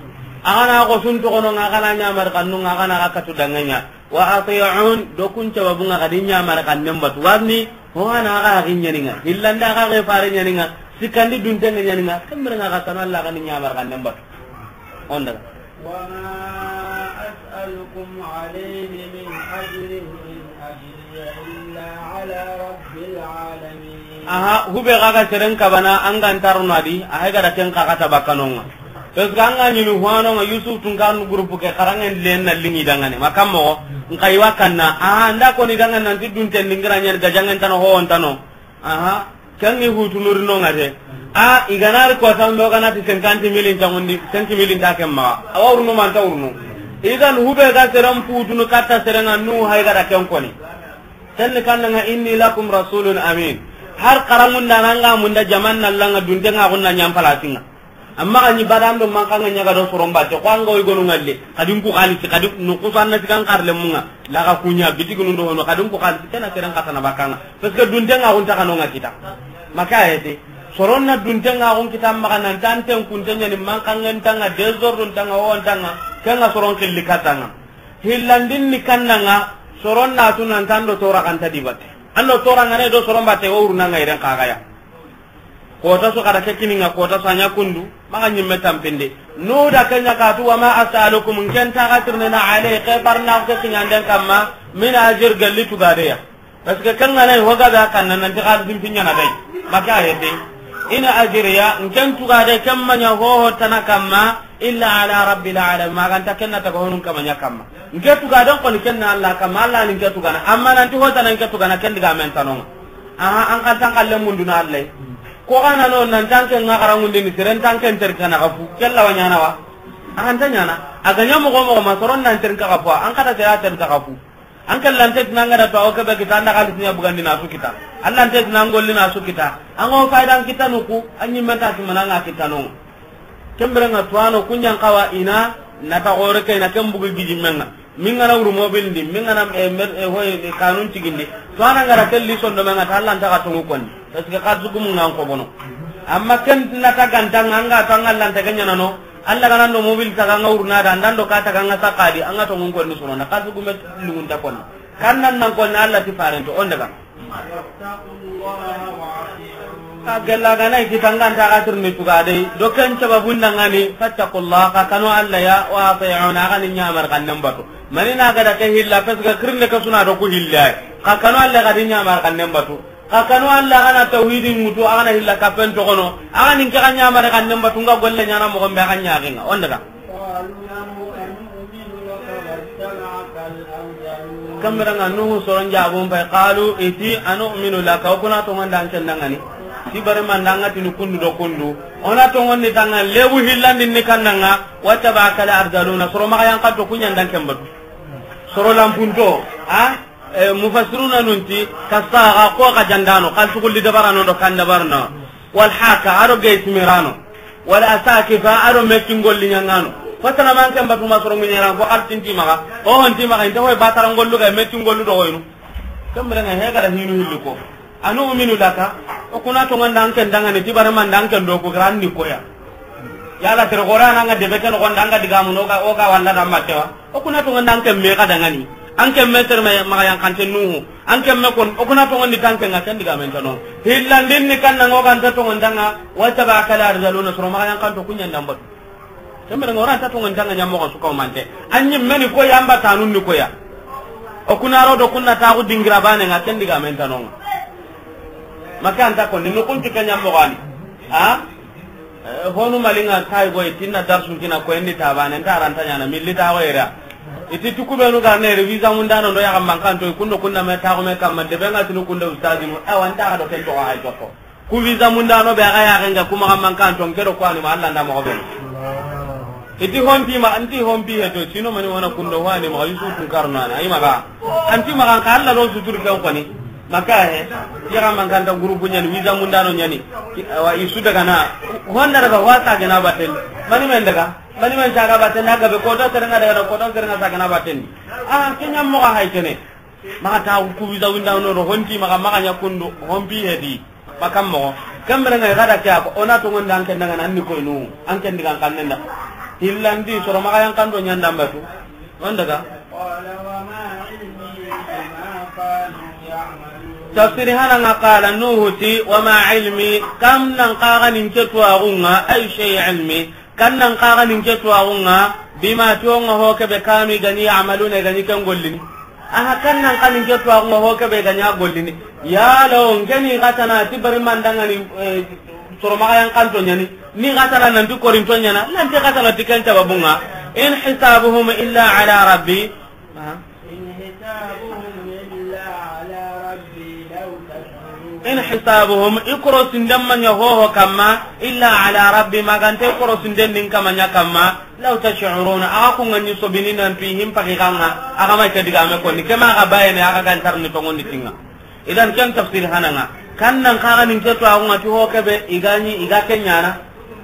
Agana ko sun togono nga, agana ɲamar kanunga, agana ga katu danganya. Wa ati'un, do kun sababunga kadi ɲamar kanen batu. Warni, ho ana aga ginya ninga. Hillanda aga ke fare ɲaninga. Sikandi duntenga ɲaninga. Kemberenga ga kanu Allah gani ɲamar kanen batu. Onda. وما أسألكم عليه من أجر إن أجري إلا على رب العالمين. Aha, hube gaga seren kabana angan tarunadi, aha gada ken kaga tabakanonga. Parce que anga ɲini huanonga Yusuf Tunkarnu groupe ke karangen len na lingi dangane. Makammo, nkai wakanna, aha, nda koni dangane nanti dunten dingira ɲan gajangen tano ho on tano. Aha, kangi hutu nuri no ngate. A, iganari ko tambe o ganati cinquante mille nta ngundi, cinq mille nta kemma. Awa urnu manta urnu. Idan hube ga seren putunu katta serenga nu hay gada ken koni. Tenni kannanga inni lakum rasulun amin. Har karamunda nanga munda jaman nallanga duntenga gunna ɲam palasinga. Amma ga ni badan do mankanga ɲaga do soron batte, ko anga o i gonu ngalle, kadin ku xalisi, kadin no kusanna tikan karle munga, laga kunya, bitigi nundo hono, kadin ku xalisi, kena seren katana bakanga. Parce que duntenga gunta kanonga kita. Maka hete. Soronna duntenga gun kita maga nan tanten kunten ɲani mankangen tanga, désordre tanga, o tanga, kenga soron killi katanga. Hillandin ni kannanga, soronna tunan tando tora kanta di batte. An do toorangana do soron batte, wo wuruna ŋa yiren kaga ya. Kota su kada ke kininga, kota su a ɲa kundu, maxa ɲimme tampindi. Nuhu da ke ɲa katu, wa ma as'alukum, nken taxa tirindini, alayhi, ke barna ke kiɲanden kamma, min ajr, galli tugadeya. Parce que ken ga na yi, ho ga be a kanna, nanti xalisin piɲana day. Maka hete. In ajriya, nken tugade, ken ma ɲa ho ho tana kamma, illa ala rabbil alamin, ma ga nta ken na taga honun kama ɲa kamma. Nke tugaden koni ken na Allah kamma, Allah ni nke tugana. Amma nanti ho tana nke tugana, ken digamen tanonga. Aha, an kan tan kalle munduna Allah. Ko ga na no nan tan ken ŋa xarangundini, seren tan ken ter kana kafu. Kella wa ɲana wa? An ta ɲana. A ga ɲa moxo moxo ma soron nan ter ka kafu, an kada sera ter ka kafu. An kallante tina an ga da to awo kebe kita, an da xalisi ɲa bugandi na su kita. Allante tina an golli na su kita. An ga wo faydan kita nuku, an ɲimme ta simana ŋa kita no. Ken bire ŋa tuwano ku ɲan xawa i na, na ta xore ke i na ken bugu gijimmen ŋa. Min ga na wuru mobil ndi, min ga na, eh, mer-, eh, hoy, eh, kanun cigindi. Tuwana ga ra ken li sondo men ŋa ta, Allanta xa tongu konni. Parce que xalisi gumu ŋa an ko bono. Amma ken na ta ganta ŋa, an ga ta ŋa Allanta ke ɲana no. Alla ga na do mobil taga ŋa wuruna da, an da do ka taga ŋa sakadi, an ga tongun konni sono na, xalisi gume lungunta konni. Kan nan nan konni Alla ti farento, on daga. Ka gella ga na i kita an ga nta xa tirindi tugade, do ken sababun da ŋa ni, fattaqullaha, xa kanu Alla ya, wa ati'un, xa ni ɲamar xannen batu. Mani na ga da ke hilla, parce que kirinde ke suna do ku hilla. Xa kanu Alla, xa ni ɲamar xannen batu. Xa kanu Alla, xa na tawhidin ŋutu, xa na hilla kapen toxono, xa ni ke xa ɲamare xannen batu, nga golle ɲana moxo be xa ɲaxinga. On daga. Kamera ŋa Nuhu soron jabun pay, qalu, i ti, anu'minu laka, o kuna tongon da an ken da ŋa ni. Ti bare man da ŋa tini kundu do kundu. O na tongon ni tanga lebu hillandin ni kanna ŋa, wattaba'aka al-arzaluna, soro maxa yan xanto ku ɲa da an ken batu. Soro lampunto, a? Eh, mufassiruna nun ti, kasaxa, ko xa jandano, xalisi gulli dabarano do kan dabarano, wal haka, a do gey timirano, wal asakifa, a do mekin golli ɲangano. Fasana man ken batu ma soro ŋiɲeran ko xalisi nti maxa, o ho nti maxa, inte hoy batara gollu ga mekin gollu do hoynu. Ken bire ŋa he ga da hinu hilli ko. Anu'minu laka, o kuna tongon da an ken da ŋa ni, ti bare man da an ken do ku gran ni koya. Yala tere xore a na ŋa debe ken noxon da an ga digamu no ga, o ga wanda da matte wa. O kuna tongon da an ken me xa da ŋa ni. An ken me tere me maxa yan xante Nuhu. An ken me kon, o kuna tongon di tan ken ŋa ken digamen tano. Hillandin ni kanna ŋo ga nta tongon da ŋa, wattaba'aka al-arzaluna, soro maxa yan xanto ku ɲa da an batu. Ken bire ŋa o ra nta tongon da ŋa ɲa moxo su ko mante. An ɲimme ni koya, an batanun ni koya. O kuna ro do kunna taxu dingira bane ŋa ken digamen tano ŋa. Maka an ta konni, no kun ti ke ɲa moxo ani. A? Eh, honu malinga kay goy tinna darsun kina ko endi tabane, nta ranta ɲana, milli ta go era. I ti tuku benu ga ne re visa mundano ndo ya kamman kanto, kundo kunda me taxu me kamma, debe ŋa tinu kunda ustadinu, awa nta xa do ken toxo hay toxo. Ku visa mundano be ga ya ga nga kuma kamman kanto, nke do ko ani ma Alla nda moxo be. I ti honti ma, anti hompi he to, sino mani wana kundo wani ma Yusufu karno ana, ay maga. Anti maga ka Alla lo suturu ken koni. Maka he, ya ga man kanta groupe ɲani, visa mundano ɲani. Ki-, awa, i su daga na. Honda daga wa ta gana baten. Mani men daga? Mani men ta ga baten, na ga be ko do tere ŋa daga na ko do tere ŋa ta gana baten. A, ke ɲa moxo hay kene. Maxa ta ku visa mundano do honti maxa, maxa ɲa kundu, hompi he di. Makam moxo. Ken bire ŋa ga da ke a ko, o na tongon da an ken da ŋa ni, an ni koynu, an ken digan xannen da. Hillandi, soro maxa yan xanto ɲa da an batu. On daga. قال وما علمي بما كانوا يعملون. Tafsiri hana ŋa qala Nuhu ti, wa ma ilmi, kam nan xa ga ni nke tuwaxu ŋa, ay shay ilmi, kan nan xa ga ni nke tuwaxu ŋa, bima, ti o ŋa ho kebe kanu i ga ni ya'maluna, i ga ni ken gollini. Aha, kan nan xa ni nke tuwaxu ŋa ho kebe i ga ni a gollini. Yala o nke ni xa tana ti bari man da ŋa ni, eh, soro maxa yan xanto ɲani. Ni xa tana nanti korinto ɲana, nanti xa tana ti ken sababu ŋa. In hisabuhum illa ala rabbi. Ha? إن حسابهم إلا على ربي لو تشعرون. In hisabuhum, i korosinden ma ɲa ho ho kamma, illa ala rabbi, ma ga nta i korosinden din kama ɲa kamma, law tash'uruna, a ga ku ŋa ni sobini nan tu i hin paki xa ŋa, a ga ma ke digame koni, ke ma ga bayene, a ga ga nta ri ni tongon di ti ŋa. Idan ken tafsir hana ŋa. Kan nan xa ga ni nke tuwaxu ŋa ti ho kebe, i ga ni, i ga ke ɲana.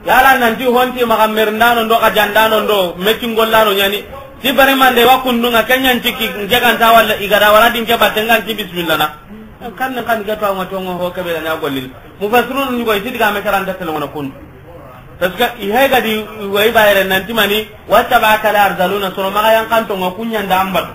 Yala nanti honti maxa merindano ndo, xa jandano ndo, metin gollano ɲani. Ti bari mande wa kundu ŋa, ke ɲa nti ki, nke ga nta wala, i ga da wala di nke batte ŋa nti bismillah na. Kan nan xa ni nke tuwaxu ŋa ti o ŋa ho kebe ga ni a gollini. Mufassirun ni go i ti digame karanta tele ŋa na kundu. Parce que i he ga di, wa i bayere nanti mani, wattaba'aka al-arzaluna, soro maxa yan xanto ŋa ku ɲa da an batu.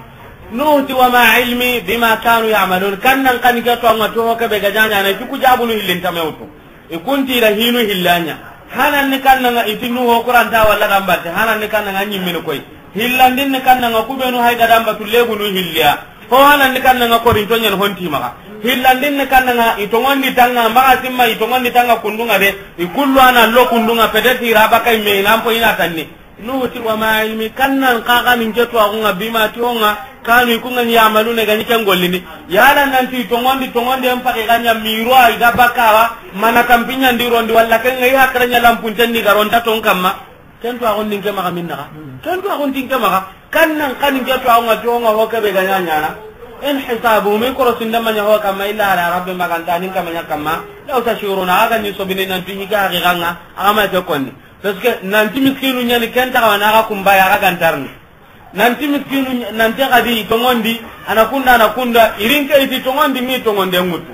Nuhu ti, "Wa ma ilmi bima kanu ya'malun." Kannan kan ke to anga to ho ke be ga ɲaɲa na, ti ku jabunu hillin tamewtu. I kunti da hinu hillanya. Hanan ni kannan i ti Nuhu Qur'an ta walla gambate. Hanan ni kannan ɲimmin koy. Hillandin ni kannan ku benu hay ga damba tu lebunu hilliya. Ho hanan ni kannan korinto ɲen honti maga. Hillandin ni kannan i tongondi tanga maga simma i tongondi tanga kundunga de. I kullu ana lo kundunga pedeti raba kay me nan po ina tanni. Nuhu ti, "Wa ma ilmi," kannan kaga nin ke to agunga bima ti onga, kanu kunga ni ya'maluna ga ni ken gollini. Yala nan ti tongondi, tongondi en pake ganya miro ay ga bakawa, mana kampinya ndirondi walla ken ngai hakranya lampun tenni garonta ton kamma. Ken to agun din ke maga minna. Ken to agun din ke maga. Kannan kanin ke to agunga ti onga ho ke be ga ɲaɲa na. In hisabu mi koro sinda manya ho kamma illa ala rabbi maganta nin kamanya kamma. Law tashuruna aga ni sobini nan ti higa ganga. Aga ma ke konni. Parce que nanti miskinu ɲani ken taxawa na ga kumba ya ga gantarni. Nanti miskinu ɲa-, nanti xadi tongondi, ana kunda, ana kunda, irin ke iti tongondi, mi tongonde ŋutu.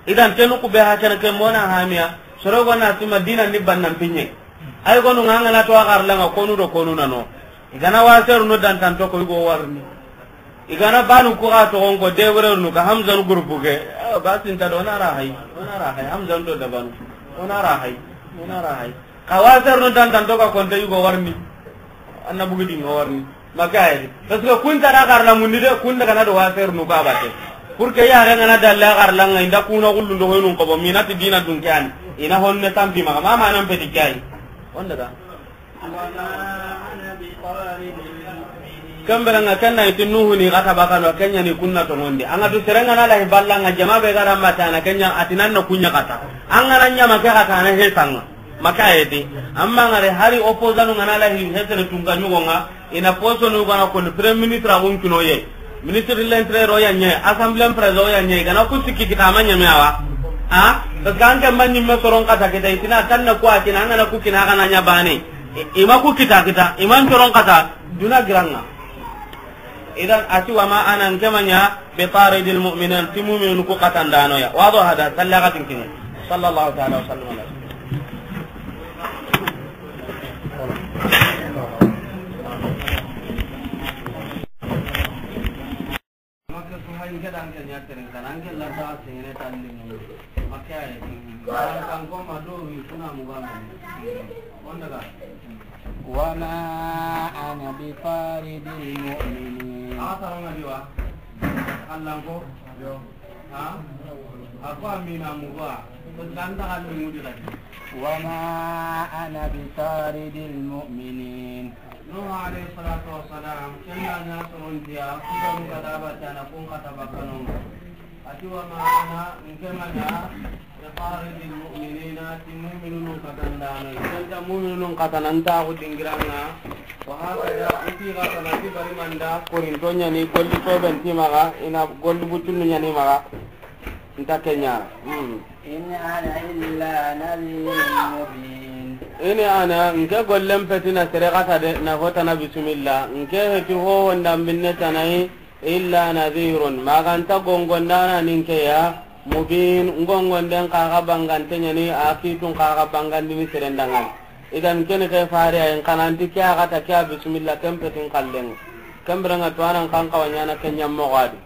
Idan tenu ku be ha kene ke mona hamiya, soro go na ti Madina ni bannan pinye. Ay gonu nga ngana to agar langa konu do konu nano. Igana waseru no dantanto ko igo warni. Igana banu ku ga togon ko debrernu ka Hamzan groupe ke. Eh, ba sinta do na ra hay. Ona ra hay Hamzan do dabanu. Ona ra hay. Ona ra hay. Ka wasernu dantanto ka konte yugo warni. Anna bugidi ngo warni. Maka ayedi. Parce que kunta da garla mundi de kunda kana do wasernu ka bate. Pour que ya ga ngana dalla garla nga inda kuna gullu ndo hoynun ko bo minati dina dun kani. Ina honne tampi maka mama nan pedi kai. Onda da. Kembere nga kenna iti Nuhu ni kata bakano kenya ni kunna tongondi. Anga tu serengana lahi balla nga jama be gara matana kenya atinan na kunya kata. Anga na nyama ke kata na hetanga. Maka edi. Amma ngare hari opposant ngana lahi hetene tunga nyugo nga ina poso nu gana ko premier ministre agun kino ye. Ministre de l'Intérieur o ya ɲe, Assemblée en président o ya ɲe, gana ku sikki kita ma ɲame awa. Ha? Parce que an ke man ɲimme soron kata kita itina tanna ku akina, an gana ku kina kana ɲa bane. I, ima ku kita kita, iman soron kata, duna giranga. Idan ati wa ma ana nkemanya bi taridil mu'minin, ti mu'minun ku katandano ya. Wado hada, sallagatin kini. Sallallahu ta'ala wa sallam ala. Makka su hay nge dan ke ɲa tere kan an ke la ta sene tan ni. Makka ay. Kan ko ma do wi kuna mu ba. Wanda ga. Wa ma ana bi taridil mu'minin. A taranga diwa. Allah ko. Yo. Ha? Ako amina mu ba. Ko dan ta kan mu di. Wa ma ana bi taridil mu'minin. Nuhu alayhi salatu wassalam, ken na ɲa sorontiya, kudanu ga daba tana kun kata bakkanonga. Ati wa ma ana, nke ma ɲa, bi taridil mu'minina, ti mu'minunun katandano. Ken ta mu'minunun katana, nta ku dingiranga. Wa hakada, iti ga kana ti bari manda, korinto ɲani, golli toben ti maga, ina golli butunnu ɲani maga. Nta kenya. Hmm. In ana illa nadhirun mubin. Ini ana, nke gollen peti na sere kata de, na hota na bismillah. Nke heti ho wonda binne tanai, illa nadhirun. Maganta gongondana ninke ya, mubin, ngongonden kaga bangante ɲani, a kitun kaga bangandini serendangan. Idan kene ke fare ay kananti ke aga ta ke bismillah ken petin kallen. Kembere nga to anan kan kawanyana kenya mogadi.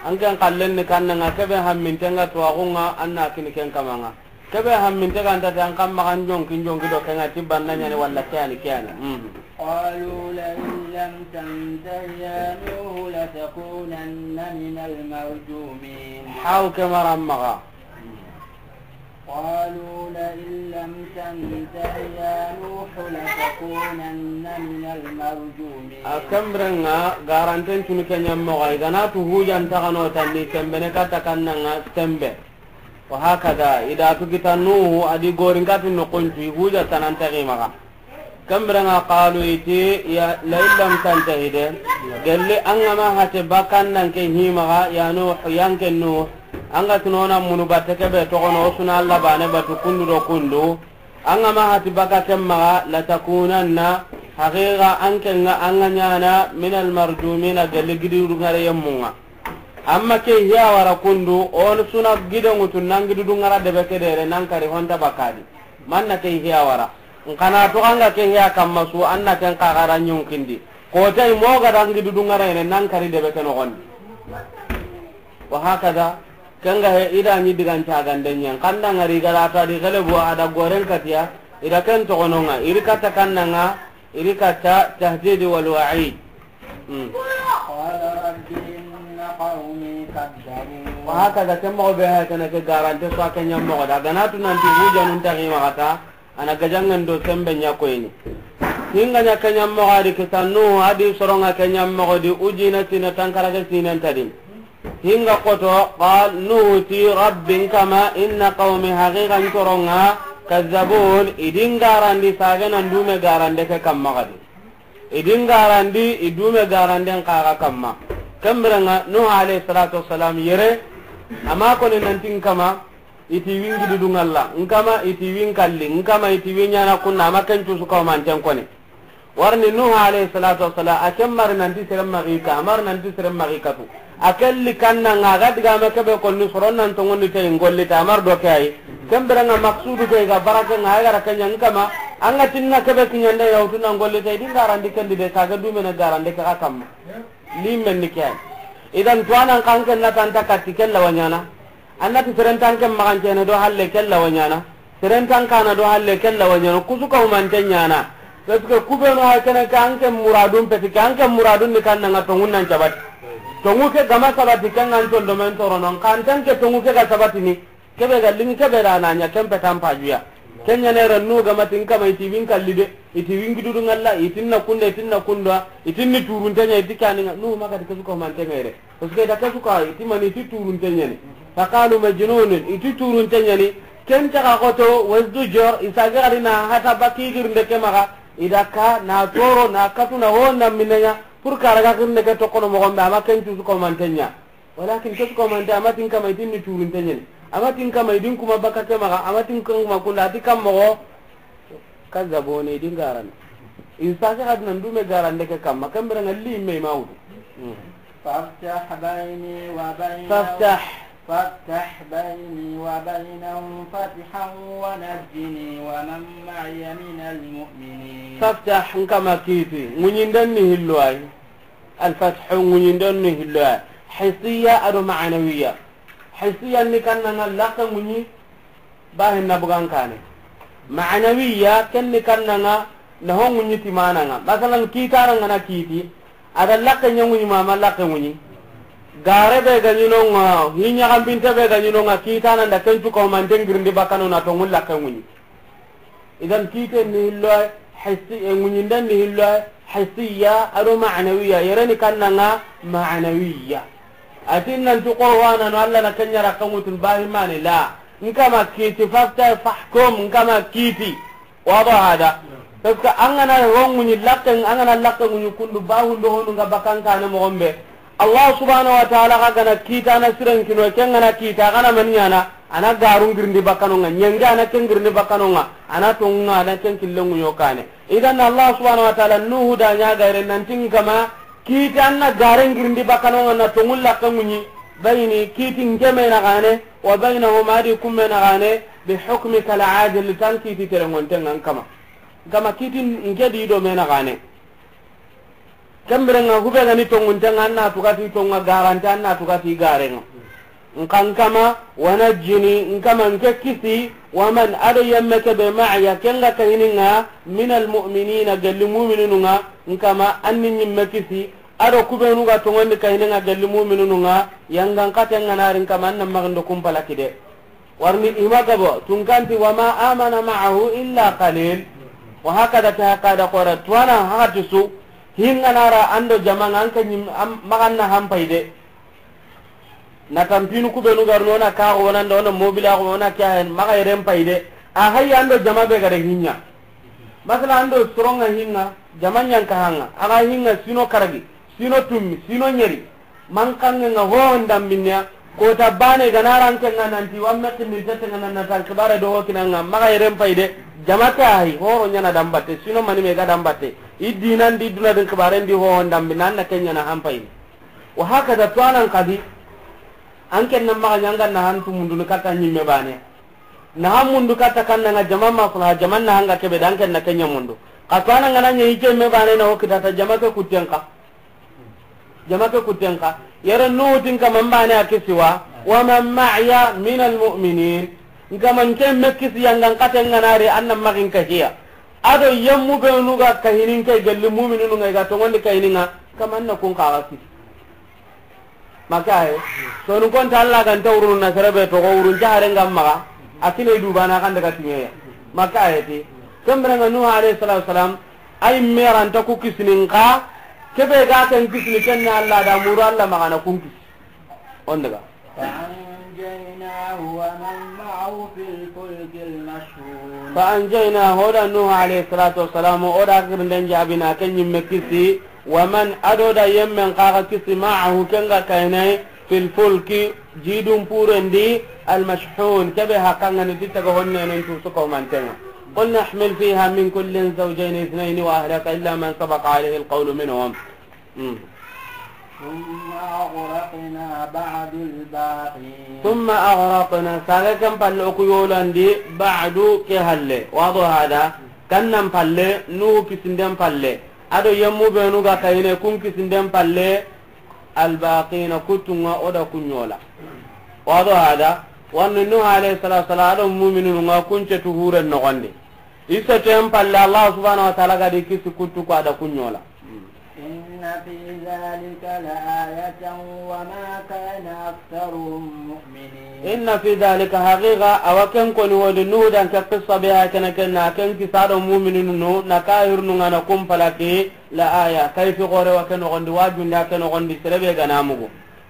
An ken kallen ni kannanga kebe hammintenga to agunga anna kini ken kamanga. Kebe hamminte ganta te an kamma kan jonki jonki do kenga tibbanna ɲani walla kiyani kiyani. Hmm. قالوا لئن لم تنته يا نوح لتكونن من المرجومين. Haw ke marammaga. قالوا لئن لم تنته يا نوح لتكونن من المرجومين. A kemrenga garanten tunu kenya moga igana tu hujan tagano tanni kembene kata kannanga tembe. Wa hakada, ida tu kita Nuhu, adi gorin katu no kuntu, huja tanan tagi maga. Kambiranga qalu iti, ya, la in lam tantahi de, gelli an ga ma hate bakan nan ke himaga, ya Nuh, yanke Nuh, an ga tunona munu batte kebe togono, o suna Allah bane batu kundu do kundu, an ga ma hati baka ken maga, la takunanna, haqiqa an ke nga an ga ɲana, min al marjumina, gelli gidi dungare yemmunga. Amma ke hiya wara kundu, on suna gide ngutu nan gidi dungara debe kedere nan kari honta bakadi. Manna ke hiya wara. Nkana to anga ke hiya kamma su anna ken kagara nyunkindi. Ko tay mo ga dangi dudu ŋarayene nan kari debe ke noxondi. Wa hakada, kenga he ida ni digan cagande ñen. Kanda ŋari gara ta di gelebu a da goren katiya, ida ken toxononga, iri katta kannanga, iri katta tahdidi wal wa'id. Hmm. قال رب إن قومي كذبون. Wa hakada, ken moxo be ha kene ke garante so a ke ñammoxo da. Ganatu nanti hujanun taxi maxata, a na gajangen do sembe ña koyini. Hinga ña ke ñammoxo a di kita Nuhu a di soronga ke ñammoxo di ujina sine tankarage sinen tadin. Hinga koto, قال Nuhu ti, رب n kama, إن قومي haqiqa n coronga, كذبون, i di n garandi sage nan dume garande ke kamma gadi. I di n garandi, i dume garanden kaga kamma. Kembirenga, Nuhu alayhi salatu wassalam yere, ama koni nanti n kama, iti wingi dudu ŋalla, n kama iti win kalli, n kama iti win ñana kunna, ama ken cusu kaw manten koni. Warni Nuhu alayhi salatu wassalam, a ken mari nanti seren maxi ka, a mari nanti seren maxi katu. A kelli kannanga, a ga digame kebe konni soron nan tongondi te i n golli ta, a mari do ke ayi. Kembirenga maksudu ke i ga barake nga, a gara kenya n kama, anga tinna kebe kiñande yawtu nan golli te, i di n garandi kendi de, sage dumene garande ke ga kamma. Limen ni ke ayi. Idan tuwanan kanken na tanta katti kella wa ñana. Annati seren tanken maxancene do halle kella wa ñana. Seren tankana do halle kella wa ñana. Kusu ka humante ñana. Parce que kubenu ha kene ka anke muradun peti, ka anke muradun ni kannanga tongun nan cabati. Tongu ke gama sabati, kengan ton domen toronon. Kantanke tongu ke ga sabatini. Kebe ga lingi kebe da na ña kempe tampajuya. Kenya ne ran nu gama tin kama iti win kalli de. Iti wingi dudu ŋalla, itinna kunda, itinna kunda, itinni turunte ña, iti kaninga. Nu maga ti kesu ka humante ngayre. Parce que da kesu ka, iti mani iti turunte ñani. Faqalu majnunun, iti turunte ñani. Ken taga koto, wazdujor, isage gari na hata baki girnde ke maga. Ida ka, na toro, na katu, na ho, na minenga. Pour karaga girnde ke tokono mogombe, ama ken cusu ka humante ña. Walakin kesu ka humante, ama tin kama itinni turunte ñani. Ama tin kama idin kuma baka ke maga, ama tin kuma kunda, ati kam mogo. Kazzabuni, i di n garana. I sage ga di nan dume garande ke kamma, kembirenga limen ma wutu. Hmm. فافتح بيني وبينهم. فافتح. فافتح بيني وبينهم فتحا ونجني ومن معي من المؤمنين. فافتح, n kama kiti, ŋuñinden ni hillo ayi. Alfathu, ŋuñinden ni hillo ayi. Hissiya ado ma'nawiya. Hissiya ni kannanga lakke ŋuñi, bahin na bugan kane. Ma'nawiya, ken ni kannanga, na ho ŋuñi timananga. Masalan, kitananga na kiti, a da lakke ña ŋuñi ma, ma lakke ŋuñi. Gare be ga ñinonga, hiña gambinte be ga ñinonga, kitana nda ken cuka humanten girindi bakano na tongun lakke ŋuñi. Idan kiten ni hillo ayi, hissi, e, ŋuñinden ni hillo ayi, hissiya, ado ma'nawiya, yere ni kannanga ma'nawiya. Atin nan tu Qur'ana no Allah na kenya rakka ŋutun bahi mani la. N kama kiti fafta fahkum, n kama kiti. Wado hada. Parce que an gana ho ŋuñi lakken, an gana lakke ŋuñi kundu bahundo honu nga bakan kane mogombe. Allah subhanahu wa ta'ala ga gana kitana siren kino, ken gana kita, gana man ñana, ana garun girindi bakano nga, ñenge ana ken girindi bakano nga, ana tongu nga, ana ken kille ŋuño kane. Idan Allah subhanahu wa ta'ala Nuhu da ña gayre nanti n kama, kiti anna garen girindi bakano nga na tongu lakke ŋuñi, bayni kiti n keme na gane, wa baynahuma di kumme na gane, bi hukmika al-adil, tan kiti terengonten nga n kama. N kama kiti n ke di do me na gane. Kembirenga hube gani tonguntenga anna tugati tonga garante anna tugati garenga. Nkan kama, wa najjini, n kama n ke kisi, wa man ado yemme kebe ma'aya kenga kahininga, min almu'minina, gelli mu'minununga, n kama anni nyimme kisi, ado kubenu ga tongondi kahininga gelli mu'minununga, yangan katenga nari n kama anna magando kumpala kide. Warni ima gabo, tunkanti, wa ma amana ma'ahu illa qalil. Wa hakada ke hakada kora, tuwana hakati su, hinga nara ando jamanga, anka nyim, am, maganna hampayde. Na tampinu kubenu garno na kago wonanda, wona mobila go wona kya hen, maga yeren payde. A hayya ando jama be gare hinya. Masala ando soronga hinga, jama nyanka hanga. Aga hinga sino karagi, sino tummi, sino nyeri. Mankange nga ho ndambinya, kota bane ganaranke nga nanti, wamme kinni tete nga nan natan kibare do ho kinanga, maga yeren payde, jama ke ahi, horo nyana dambatte, sino mani me ga dambatte. I dinan di duna din kibare ndi ho ndambi, nan na kenya na hampayni. Wa hakada tuwanan kadi, anken nan maga nyanga na hantu mundu ni kata nyimme bane. Na han mundu katta kanna nga jaman ma fula, jaman na hanga kebe da anken na kenya mundu. Xa to a na ŋa na ɲa i ke me baane na o kita ta jama ke kutten xa. Jama ke kutten xa. Yere Nuhu ti n kama n baane a kisi wa. Wa man ma'iya minal mu'minin. N kama n ke me kisi yanga n xate ŋa na ri an na maxi n kahiya. A do yemmu beenu ga kahini n ke gelli mu'mininu ŋa i ga toŋondi kahini ŋa. Kama n na kun xa ga kisi. Maka aye. Sonu konta Allah ga nta wurunu na sere be toxo wurun jahare ŋa maxa. A kine du baana kan daga timeya. Maka aye ti. Kembre ŋa Nuhu alayhi salatu wasalam. Ay me ra nta ku kisini n xa. Kebe ga ken kisini ken na Allah da muru Allah maxa na kun kisi. On daga. فأنجيناه ومن معه في الفلك المشحون. فأنجيناه, o da Nuhu alayhi salatu wasalam, o da girnden jaabini, ken ɲimme kisi, ومن, a do da yemmen xa ga kisi, معه, ken ga kayne, في الفلك, jidun puren di, المشحون, kebe haqqan ŋa ni ti taga honne nen tu su ko manten ŋa. قلنا احمل فيها من كل زوجين اثنين وأهلك إلا من سبق عليه القول منهم. Hmm. ثم أغرقنا بعد الباقين. ثم أغرقنا, saage ken palle o ku yolandi, بعد ke halle. Wado hada, kannan palle, Nuhu kisinden palle. A do yemmu beenu ga kayine, kun kisinden palle, الباقين, kuttu ŋa o da kun yola. Wado hada, wani Nuhu alayhi salatu wasalam, a do mu'mininu ŋa kun cetu huren noxondi. I seten palle, Allah subhanahu wa ta'ala ga di kisi kuttu ko a da kun yola. إن في ذلك لآية وما كان أكثرهم مؤمنين. إن في ذلك, haqiqa, a wa ken koni wodi Nuhu dan ke qissa be ha kene ken na ken kisa do mu'mininu na kahirunu ŋa na kun palaki la aya. Kayfi gore wa ken noxondi, wajunda ken noxondi, sere be ga na mugu.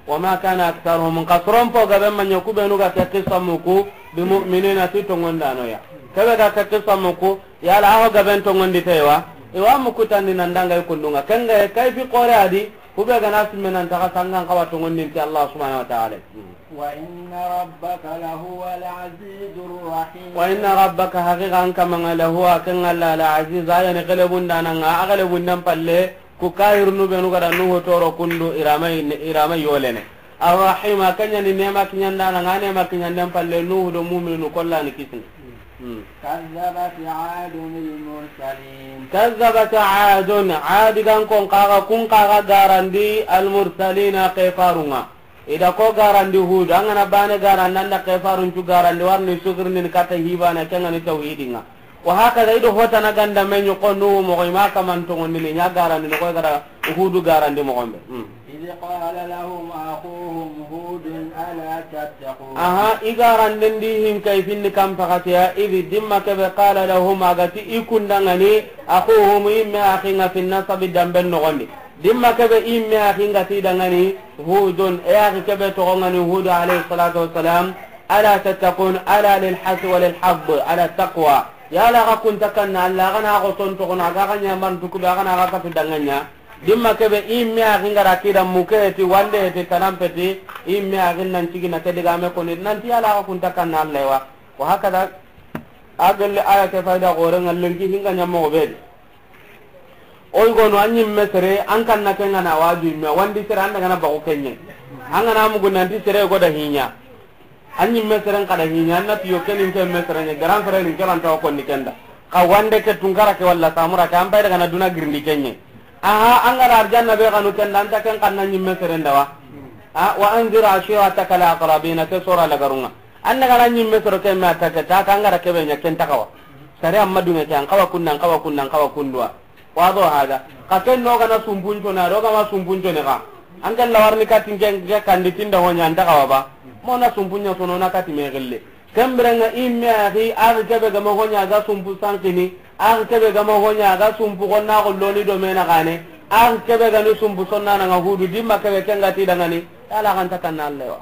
وما كان أكثرهم, n xa soron po gaben ma ɲa ku beenu ga ke qissa muku, بمؤمنين, ti toŋondano ya. Kebe ga ke qissa muku, yala a ho gaben toŋondi te wa, i wa muku tandi nan danga i kundu ŋa. Ken ga kayfi gore a di, ku be ga na simme nan taga sangan xawa toŋondin ti Allah subhanahu wa ta'ala. وإن ربك لهو العزيز الرحيم. وإن ربك, haqiqa an kama ŋa, لهو, ken ŋa la, العزيز, a ya ni gelebundana ŋa, a gelebunden palle, Ku kahirunu beenu ga da Nuhu toro kundu, i ra ma, i ra ma yolene. Arrahim, a ken ɲa ni neema kiɲandana ŋa, neema kiɲanden palle Nuhu do mu'mininu kolla ni kisini. Hmm. كذبت عاد المرسلين. كذبت عاد, Adi gan kon xa ga, kun xa ga garandi, المرسلين, kefarun ŋa. I da ko garandi Hudu, an ga na baane garandi, an da kefarun cu garandi, warni sugirni ni katta hibana, ken ŋa ni tawhidin ŋa. Wa hakada, i do hotana ganda me ɲi ko Nuhu moxo, i ma kaman toŋondini, ɲa garandi noxo, i ga da Hudu garandi moxon be. Hmm. إذ قال لهم أخوهم هود ألا تتقون. Aha, i garanden di hin kay finni kan pakatiya, إذ, dimma kebe, قال لهم, a ga ti i kundaŋani, أخوهم, i me axi ŋa, في النسب, damben noxondi. Dimma kebe i me axi ŋa ti daŋani Hudun, e axi kebe toxo ŋani Hudu alayhi salatu wassalam, ألا تتقون، ألا للحث وللحض على التقوى. Yala xa kunta kanna Allah, xa na xo ton toxo na, xa xa ɲaman tukuda, xa na xa katu daŋa ɲa. Dimma kebe i me axi ŋa ra kida muke ti, wande ti, tanampe ti, i me axi nan cigi na ke diga me koni, nanti yala xa kunta kanna Allah wa. Wa hakada, a gelle aya ke fayda gore ŋa lenki hinga ɲa moxo be di. Oy gono, an ɲimme sere, an kanna ke ŋa na waju imme, wandi sere, an daga na baxu ke ɲa. An ga na mugu nanti sere go da hiɲa. An ɲimme sere n xa da hiɲa, an na tiyo ke ni n ke me sere ɲa, garan sere ni n ke ra nta wo konni ken da. Xa wande ke Tunkara ke walla Samura ke, an pay daga na duna girindi ke ɲa. Aha, an ga da arjanna be xanu ken da, an ta ken xanna ɲimme sere n da wa. A, وأنذر عشيرتك الأقربين, ke sora lagarun ŋa. An daga na ɲimme soro ke me atta ke, ta ka an ga da kebe ɲa ken ta xawa. Sare amma dunge ke, an xawa kundu, an xawa kundu, an xawa kundu wa. Wado hada. Xa ken no ga na sumpunco na, do ga ma sumpunco ne xa. An ken lawarni katin ken ke kandi tinda hoɲa, an ta xawa ba. Mo na sumpunya sono na kati me gelle. Kembere ŋa i me axi, axi kebe ga ma hoɲa ga sumpu sankini, axi kebe ga ma hoɲa ga sumpu xonna xolloni do me na xane, axi kebe ga ni sumpu sonna na ŋa Hudu, dimma kebe ken ga ti daŋani, yala xa nta kanna Allah wa.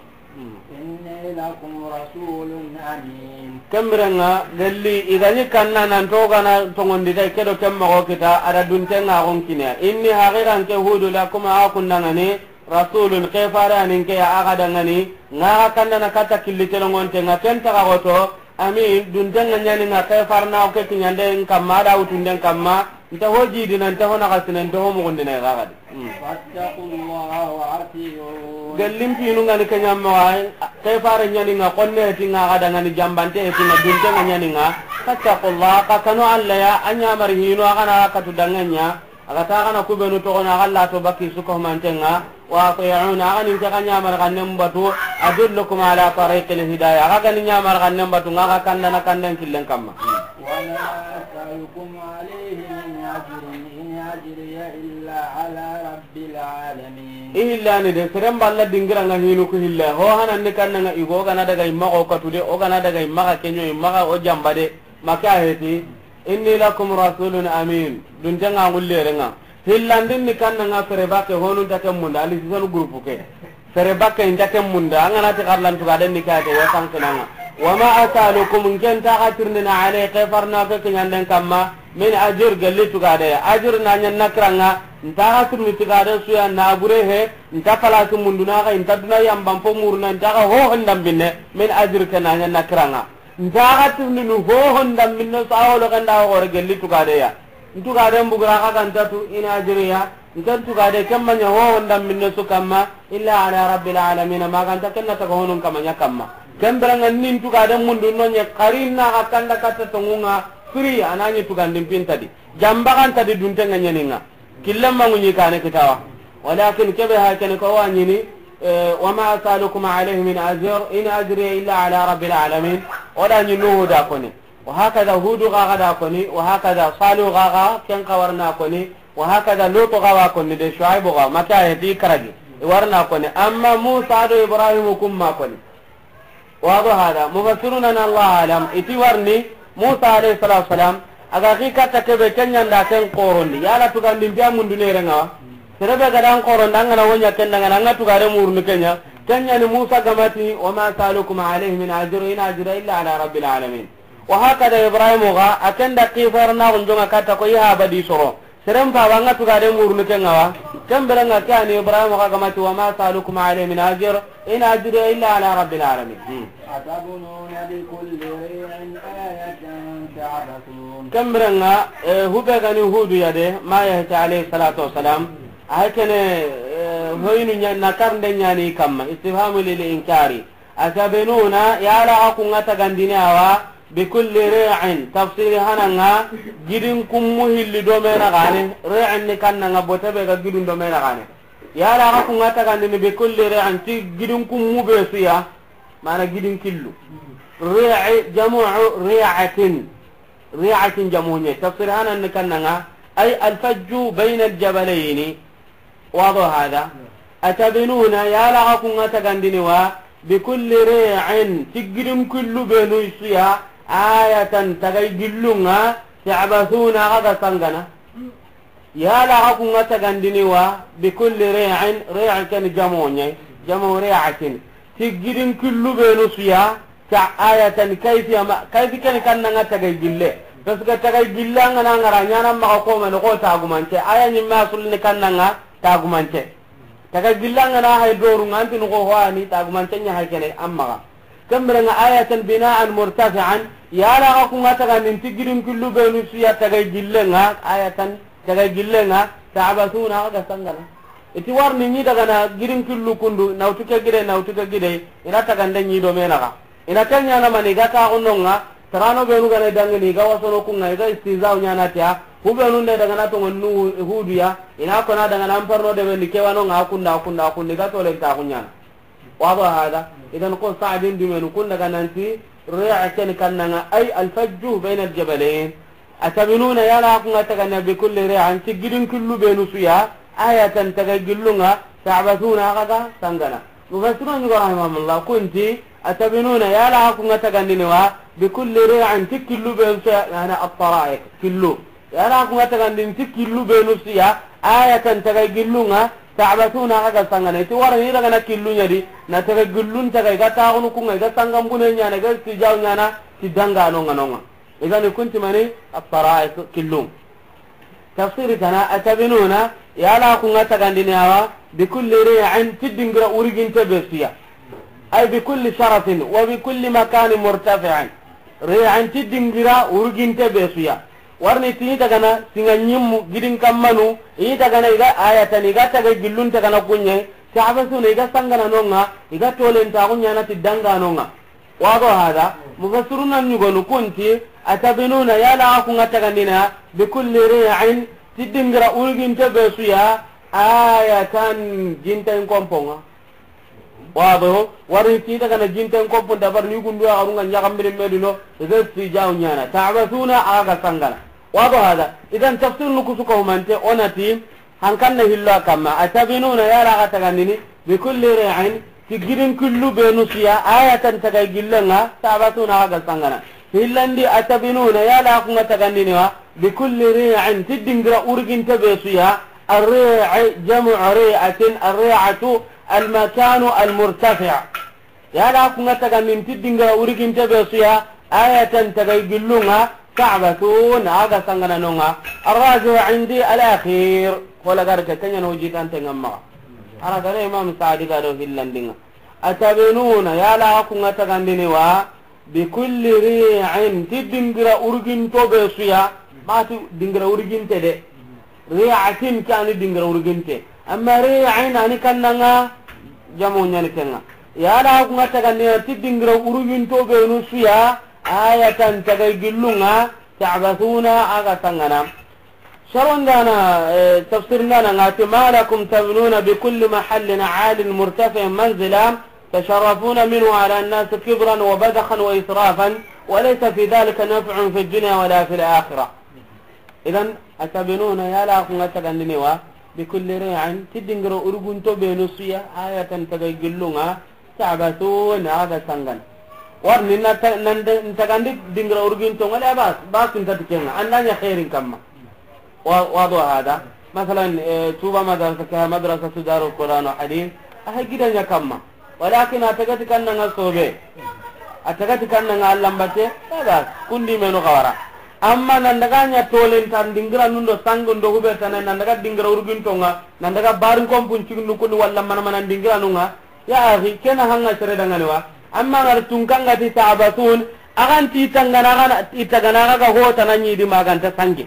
إني لكم رسول أمين. Kembere ŋa, gelli, i ga ɲi kanna nan to ga na toŋondi tay, ke do ken moxo kita, a da dunte ŋa xon kine. إني, haqiqa n ke Hudu, لكم, axa kundaŋani, رسول, ke fare ya ni n ke ya axa daŋani, ŋa xa kanna na katta killi telongonte ŋa, ken ta xa xoto, أمين, dunte ŋa ɲa ni ŋa, ke farna o ke kiɲande n kamma, a da wutunde n kamma, Nta ho jidina, nta ho naxasina, nta ho muxundina i ga xadi. Mm. فاتقوا الله وأطيعون. Gellin pinu ngani kenya maxa, ke fare nyani nga konne ti nga ga dangani jambante ti nga dunte nga nyani nga. فاتقوا الله, xa kanu Alla ya, a ɲamari hinu, a ga na katu danganya, a ga ta ga na kubenu toxo na, a ga la to baki su ko mantenga. وأطيعون, a ga ni ke ga ɲamari xannen batu, أدلكم على طريق الهداية, a ga ni ɲamari xannen batu, nga ga kandana kanden killen kamma. وما أسألكم عليه من أجر، إن أجري إلا على رب العالمين. I hillani de, seren balla dingira nga hinu ku hilla. Ho hanan ni kanna nga igo, o ga na daga imma o katu de, o ga na daga imma ka kenyo, imma ka o jamba de. Maka heti, إني لكم رسول أمين. Dunte nga ngulle renga. Hillandin ni kanna nga sere bakke honu ta kemmunda, ali sisanu groupe ke. Sere bakke inta kemmunda, an ga na ti xarlan tugaden ni kate, wa sankinanga. وما أسألكم, nke nta ga tirindini, عليه, ke farna ke kiɲanden kamma, من أجر, gelli tugade. Ajr na ɲa nakiranga, nta ga tirindi tugade suya na bure he, nta palasi munduna ga, inta duna yamban po muruna, nta ga ho hondambinne, من أجر ke na ɲa nakiranga. Nta ga tirindini ho hondambinne, sa holo ganda ho gore gelli tugade ya. Ntugaden bugura xa ganta tu, إن أجري, nken tugade kemma ɲa ho honda minne su kamma, إلا على رب العالمين, ma ganta kenna taga honun kama ɲa kamma. Ken beranga nin tugaden mundu no ɲe xari na xa kanda katta tongunga, firi anani tugandin pintadi. Jamba ganta di dunte nga ɲaninga. Killen mangu ɲi kane kitawa. ولكن kebe ha kene ko wa ɲini, eh, وما أسألكم عليه من أجر، إن أجري إلا على رب العالمين. O da ɲi Nuhu da koni. وهكذا هود ga ga da koni, وهكذا صالح ga ga, ken xa warna koni, وهكذا لوط ga wa koni de, Shuaibu ga, maka ya di karagi, i warna koni. Amma Musa do Ibrahim kumma koni. Wado hada, mufassiruna na الله أعلم, iti warni, Musa alayhi salatu wasalam, a ga xi katta kebe kenya nda ken xorondi, yala tugandin biya mundu ne renga wa. Serebe ga dan xorondi, an ga na wo ɲa ken da, an ga na tugare murnu kenya, kenya ni Musa ga ma ti, وما أسألكم عليه من أجر، إن أجري إلا على رب العالمين. وهكذا إبراهيم ga, a ken da xifar na gunjonga katta ko i haba di soro. Seren fa wa nga tugade murnu ken nga wa. Ken beranga ke ani Ibrahim ga ga ma ti وما أسألكم عليه من أجر، إن أجري إلا على رب العالمين. Hmm. أتبنون بكل ريع آية تعبثون. Ken beranga, eh, hube gani Hudu ya de, ma ya ta alayhi salatu wasalam. Ay kene, eh, hoyinu ɲa, na karnde ɲani kamma, istifhamu lil inkari. Atabinuna, yala xa kunga tagandini awa, bikulli ri'in, tafsiri hananga, gidin kummu hilli do mena gane, ri'in ni kannanga bote be ga gidun do mena gane. Yala xa kunga tagandini bikulli ri'in, ti gidin kummu be suya, mana gidin killu. Ri'i, jamu'u ri'atin. Ri'atin jamu ɲa. Tafsir hanan ni kannanga, ay alfajju bayna aljabalayni. Wado hada. Atabinuna, yala xa kunga tagandini wa, bikulli ri'in, ti gidin killu benu suya, ayatan, tagay gillunga, ta'basuna, xa ga sangana. Yala xa kunga tagandini wa, bikulli ri'in, ri'in ken jamu ɲa, jamu ri'atin. Ti gidin killu benu suya, ta ayatan kayfiya ma, kayfi ken kannanga tagay gille. Parce que tagay gille an ga na ngara ɲana maxa ko mani ko tagumance. Aya ɲimme asulini kannanga tagumance. Tagay gille an ga na hay doru nga anti no ko ho ani tagumance ɲa hay kene amma ga. Ken beranga ayatan bina'an murtafi'an, yala xa kunga tagandini ti gidin killu benu suya tagay gillenga, ayatan tagay gillenga, ta'basuna, xa ga sangana. Iti warni ni daga na gidin killu kundu, nawtu ke gide, nawtu ke gide, ina tagande ɲi do mena ga. Ina kenya na mani ga ta gunonga, tarano benu ga na dangini, ga wasono kunga, ga istizau ɲana tiya, hu benu nde daga na tongo nu Hudu ya, ina kona daga na amparno de bendi kewanonga, kunda, kunda, kundi, ga tolen ta kunyana. Wado hada, idan ko Sa'din dumenu kun daga nanti, ri'a ken kannanga, ay alfajju bayna aljabalayn. Atabinuna, yala xa kunga tagandini bikulli ri'in, ti gidin killu benu suya, ayatan tagay gillunga, ta'basuna, xa ga sangana. Mufassirun ɲi go rahimahumullah, kunti, atabinuna, yala xa kunga tagandini wa, bikulli ri'in, ti killu benu suya, yani at-tara'iq, killu. Yala xa kunga tagandini ti killu benu suya, ayatan tagay gillunga, ta'basuna, xa ga sangana. Iti warni daga na killu ɲa di, na tagay gillun tagay, ga tagunu kunga, ga sangan bune ɲana, ga istizau ɲana, ti danga nonga nonga. Idan kunti mani at-tara'iq killu. Tafsiri tana, atabinuna, yala xa kunga tagandini awa, bikulli ri'in, ti dingira uruginte be suya. Ay bikulli sharafin, wa bikulli makanin murtafi'in. Ri'in ti dingira uruginte be suya. Warni ti i tagana singa ñimmu gidin kammanu, i tagana i ga ayatan, i ga taga gillun tagana kuñe, ta'basuna i ga sangana nonga, i ga tolen taxu ñana ti danga nonga. Wado hada, mufassiruna ñugonu kunti, atabinuna yala a kunga tagandina, bi kulli ri'in, ti dingira urginte be suya, ayatan jinten komponga. Wado, wari ti daga na jinten kopun dabar ni gundu a runga ñagambiri medino, zai fi jaw ñana. Ta'basuna a ga sangana. Wado hada. Idan tafsir nu kusu ko humante, onati, hankan na hillo kamma. Atabinuna yala ga tagandini, bi kulli ri'in, ti gidin kullu benu suya, ayatan taga gillenga, ta'basuna a ga sangana. Hillandi atabinuna yala kunga tagandini wa, bi kulli ri'in, ti dingira urginte be suya, الريع جمع ريعة، الريعة المكان المرتفع. Yala kunga tagandini ti dingira urginte be suya, ayatan taga gillunga, ta'basun, a ga sangana nonga. الراجح عندي الأخير. Kola garke kenya no jitan tengamma. Ara gare Imam Sa'di ga do hillandinga. Atabinuna yala kunga tagandini wa, bi kulli ri'in, ti dingira urginto be suya, ba ti dingira urginte de. Ri'atin ke ani dingira urginte. Amma ri'in ani kannanga, jamu ñani kenga. Yala kunga tagandini ti dingira urginto benu suya, ayatan taga gillunga, ta'basuna a ga sangana. Sharondana, eh, tafsir ndana ngati, ما لكم تبنون بكل محل عال مرتفع منزلا تشرفون منه على الناس كبرا وبذخا وإسرافا وليس في ذلك نفع في الدنيا ولا في الآخرة. Idan, atabinuna yala kunga tagandini wa, bi kulli ri'in, ti dingira urgunto benu suya, ayatan taga gillunga, ta'basuna a ga sangana. Warni na ta-, nan de, tagandi dingira urginto ngale bas, bas nta tikenga, andanya khairin kamma. Wa-, wado hada. Masalan, eh, Tuba madrasa ka madrasa su Darul Quran wa Hadith, a ha gidanya kamma. Walakin a tagati kannanga sobe. A tagati kannanga allambate, bas, kundi menu kawara. Amma nan daga ña tolen tan dingira nundo sango ndo hube tane nan daga dingira urgintonga, nan daga barin kompun cigindu kundi walla mana mana dingira nunga, Ya akhi, kena hanga sere dangane wa. Amma ngar tunkanga ti ta'basun, agan ti tangana gana, i tagana ga ho tana ñi di maganta sange.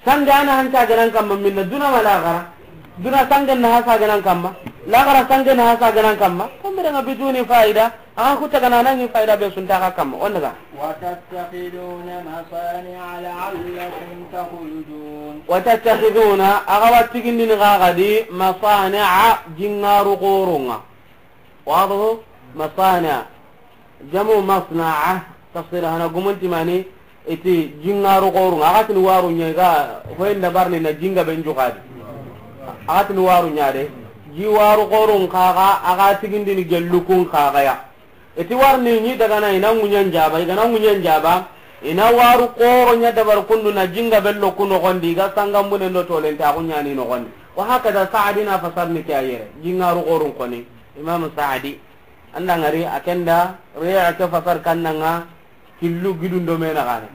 Sange ana hanta ganan kamma minna duna ma lagara. Duna sange na hasa ganan kamma. Lagara sange na hasa ganan kamma. Kambe danga biduni faida. Aga ku tagana na ñi faida be sunta ga kamma. On daga. وتتخذون مصانع لعلكم تخلدون. وتتخذون, a ga wa tigindini ga ga di, مصانع, jingaru xoronga. Wado, مصانع. Jamu masna'a, tafsir hana gumunti mani, iti jingaru xorunga. A ga tini waru ña ga, hoyin da barni na jinga ben jugadi. A ga tini waru ña de. Ji waru xorun kaga, a ga tigindini gellukun kaga ya. Iti warni ñi daga na ina ŋuñen jaba, i ga na ŋuñen jaba, ina waru xoro ña dabar kundu na jinga bello ku noxondi, i ga sangambune ndo tolenta ku ñani noxondi. Wa hakada Sa'di na fasarni ke a yere, jingaru xorun koni, Imam Sa'di. Anda ngari a kenda, riya ke fasar kannanga, killu gidun do mena gane.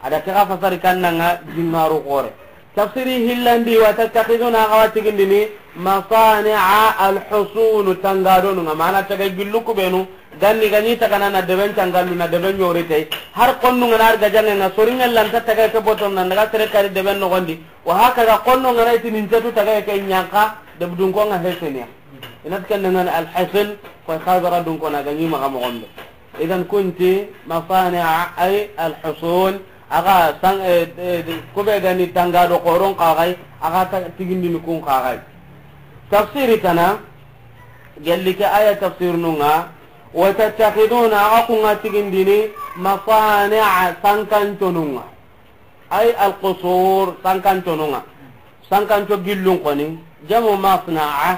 Ada ke ga fasari kannanga jingaru xore. Tafsiri hillandi, وتتخذون, a ga wa tigindini, مصانع, الحصون, tangadonu nga, mana taga gillu ku benu, ganni ganni tagana na deben tangallu na deben ñori tay. Har konnu nga na arga jange nga sori nga lanta taga ke boton nan daga sere kari deben noxondi. Wa hakada konnu nga na itini ntetu taga ke ñanka, debdun ko nga hesenia. Inat kenda nga الحصن, ko xabara dun ko na ganni maxa moxombe. Idan kunti masani'a ay alhusun, a ga san, eh, eh, kube gani tanga do xoron kaxay, a ga ta-, tigindini kun kaxay. Tafsiri tana, gelli ke aya tafsir nunga, wa tattakhiduna, a ga kunga tigindini, masani'a, sankanconunga. Ay alqusur, sankanconunga. Sankanco gillun koni, jamu masna'a.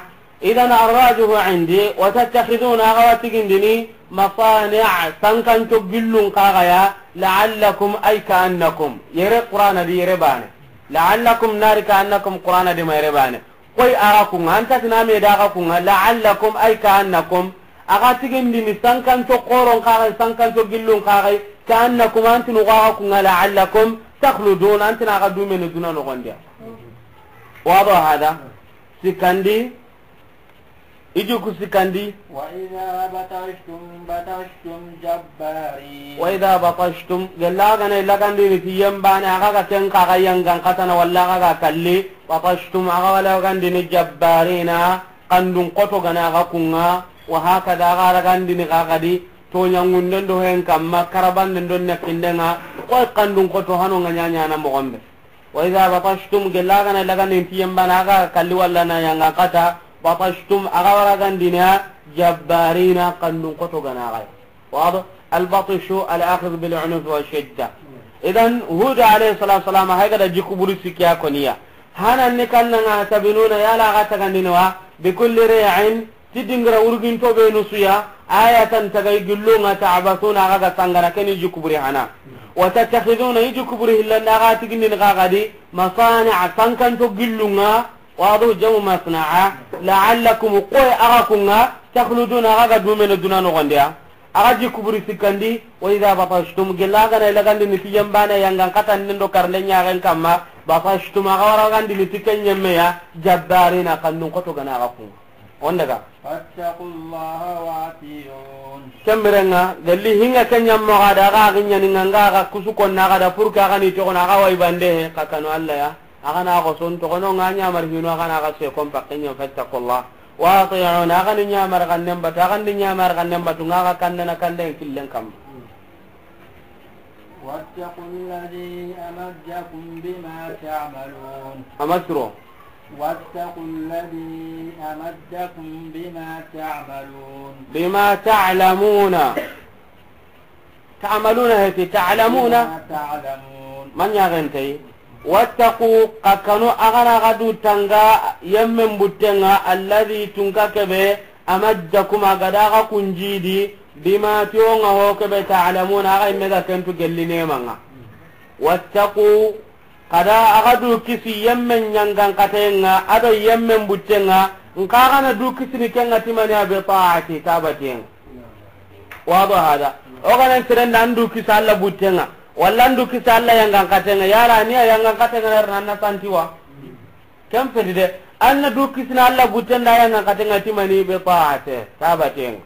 Idan arrajihu indi, wa tattakhiduna, a ga wa tigindini, masani'a, sankanco gillun kaxaya, la'allakum, ay ka'annakum. Yere Qur'ana di yere bane. La'allakum nari ka'annakum Qur'ana di ma yere bane. Koy a ga kunga, anta tina me da ga kunga, la'allakum, ay ka'annakum. A ga tigindini sankanco xoron kaxay, sankanco gillun kaxay, ka'annakum, antinu ga ga kunga, la'allakum takhludun, antina ga dumene duna noxondiya. Wado hada? Sikandi, I jikku sikkandi. وإذا بطشتم بطشتم جبارين. وإذا بطشتم, gella ga na i lagandini ti yembane, a ga ga ken kaga yangan katana, walla a ga ga kalli, بطشتم, a ga wa lagandini جبارين, kandun xoto ga na a ga kunga, وهكذا a ga lagandini kaga di, toɲangunden do hen kamma, karabanden do nekindenga, koy kandun xoto hano nga ɲaɲana mogonbe. وإذا بطشتم, gella ga na i lagandini ti yembane, a ga kalli walla na yangan kata, بطشتم, a ga wa lagandini جبارين, kandun xoto ga na a ga. واضح؟ البطش الأخذ بالعنف والشدة. إذن هود عليه الصلاة والسلام, hay ga da jikku buri sikki ya koni ya. Hanan ni kannanga, تبنون, yala a ga tagandini wa, بكل ريع, ti dingira wurginto be nusuya, آية, tagay, gillunga, تعبثون, a ga ga sangana, ken i jikku buri hana. وتتخذون, i jikku buri hillanda a ga tigindini kaga di, مصانع, sankanto gillunga, واضح؟ جمع مصنع. لعلكم, koy a ga kunga, تخلدون, a ga ga dumene duna nogondiya. A ga jikku buri sikkandi, وإذا بطشتم, gella ga na i lagandini ti yembane yangan katan ndo karle ɲaxen kamma, بطشتم, a ga wa lagandini ti ken yemmeya, جبارين, kandun xoto ga na a ga kunga. On daga. فاتقوا الله وأطيعون. Ken birenga, gelli hinga ken ɲammo ga da, a ga giɲani nga, nga ga kusu konna ga da, pour que a ga ni toxono, a ga wa i bande he, ka kanu Alla ya. A ga na xoson toxono nga ɲamar hinu, a ga na ga se kon pakke ɲa, فاتقوا الله وأطيعون, a ga ni ɲamar xannen batu, a ga ni ɲamar xannen batu, nga ga kandana kanden killen kamma. واتقوا الذي أمدكم بما تعملون. A ma siro. واتقوا الذي أمدكم بما تعملون. بما تعلمون. تعملون heti, تعلمون. بما تعلمون. Man ɲaxentey. واتقوا, xa kanu, a ga na xa du tanga yemmen buttenga, الذي, tunka kebe, أمدكم, a ga da xa kunjidi, بما, ti o nga ho kebe, تعلمون, a ga yimme ga kentu gelli nemanga. واتقوا, xa da a ga du kisi yemmen ɲangan katenga, a do yemmen buttenga, nka ga na du kisini kenga ti mani ya, بطاعتي, ta batiyenga. واضح هذا؟ O ga na seren da an du kisi Alla buttenga, walla an du kisi Alla yangan katenga, yala ni a yangan katenga na na santiwa. Ken feti de, an na du kisini Alla butten da yangan katenga ti mani, بطاعتي, ta batiyenga.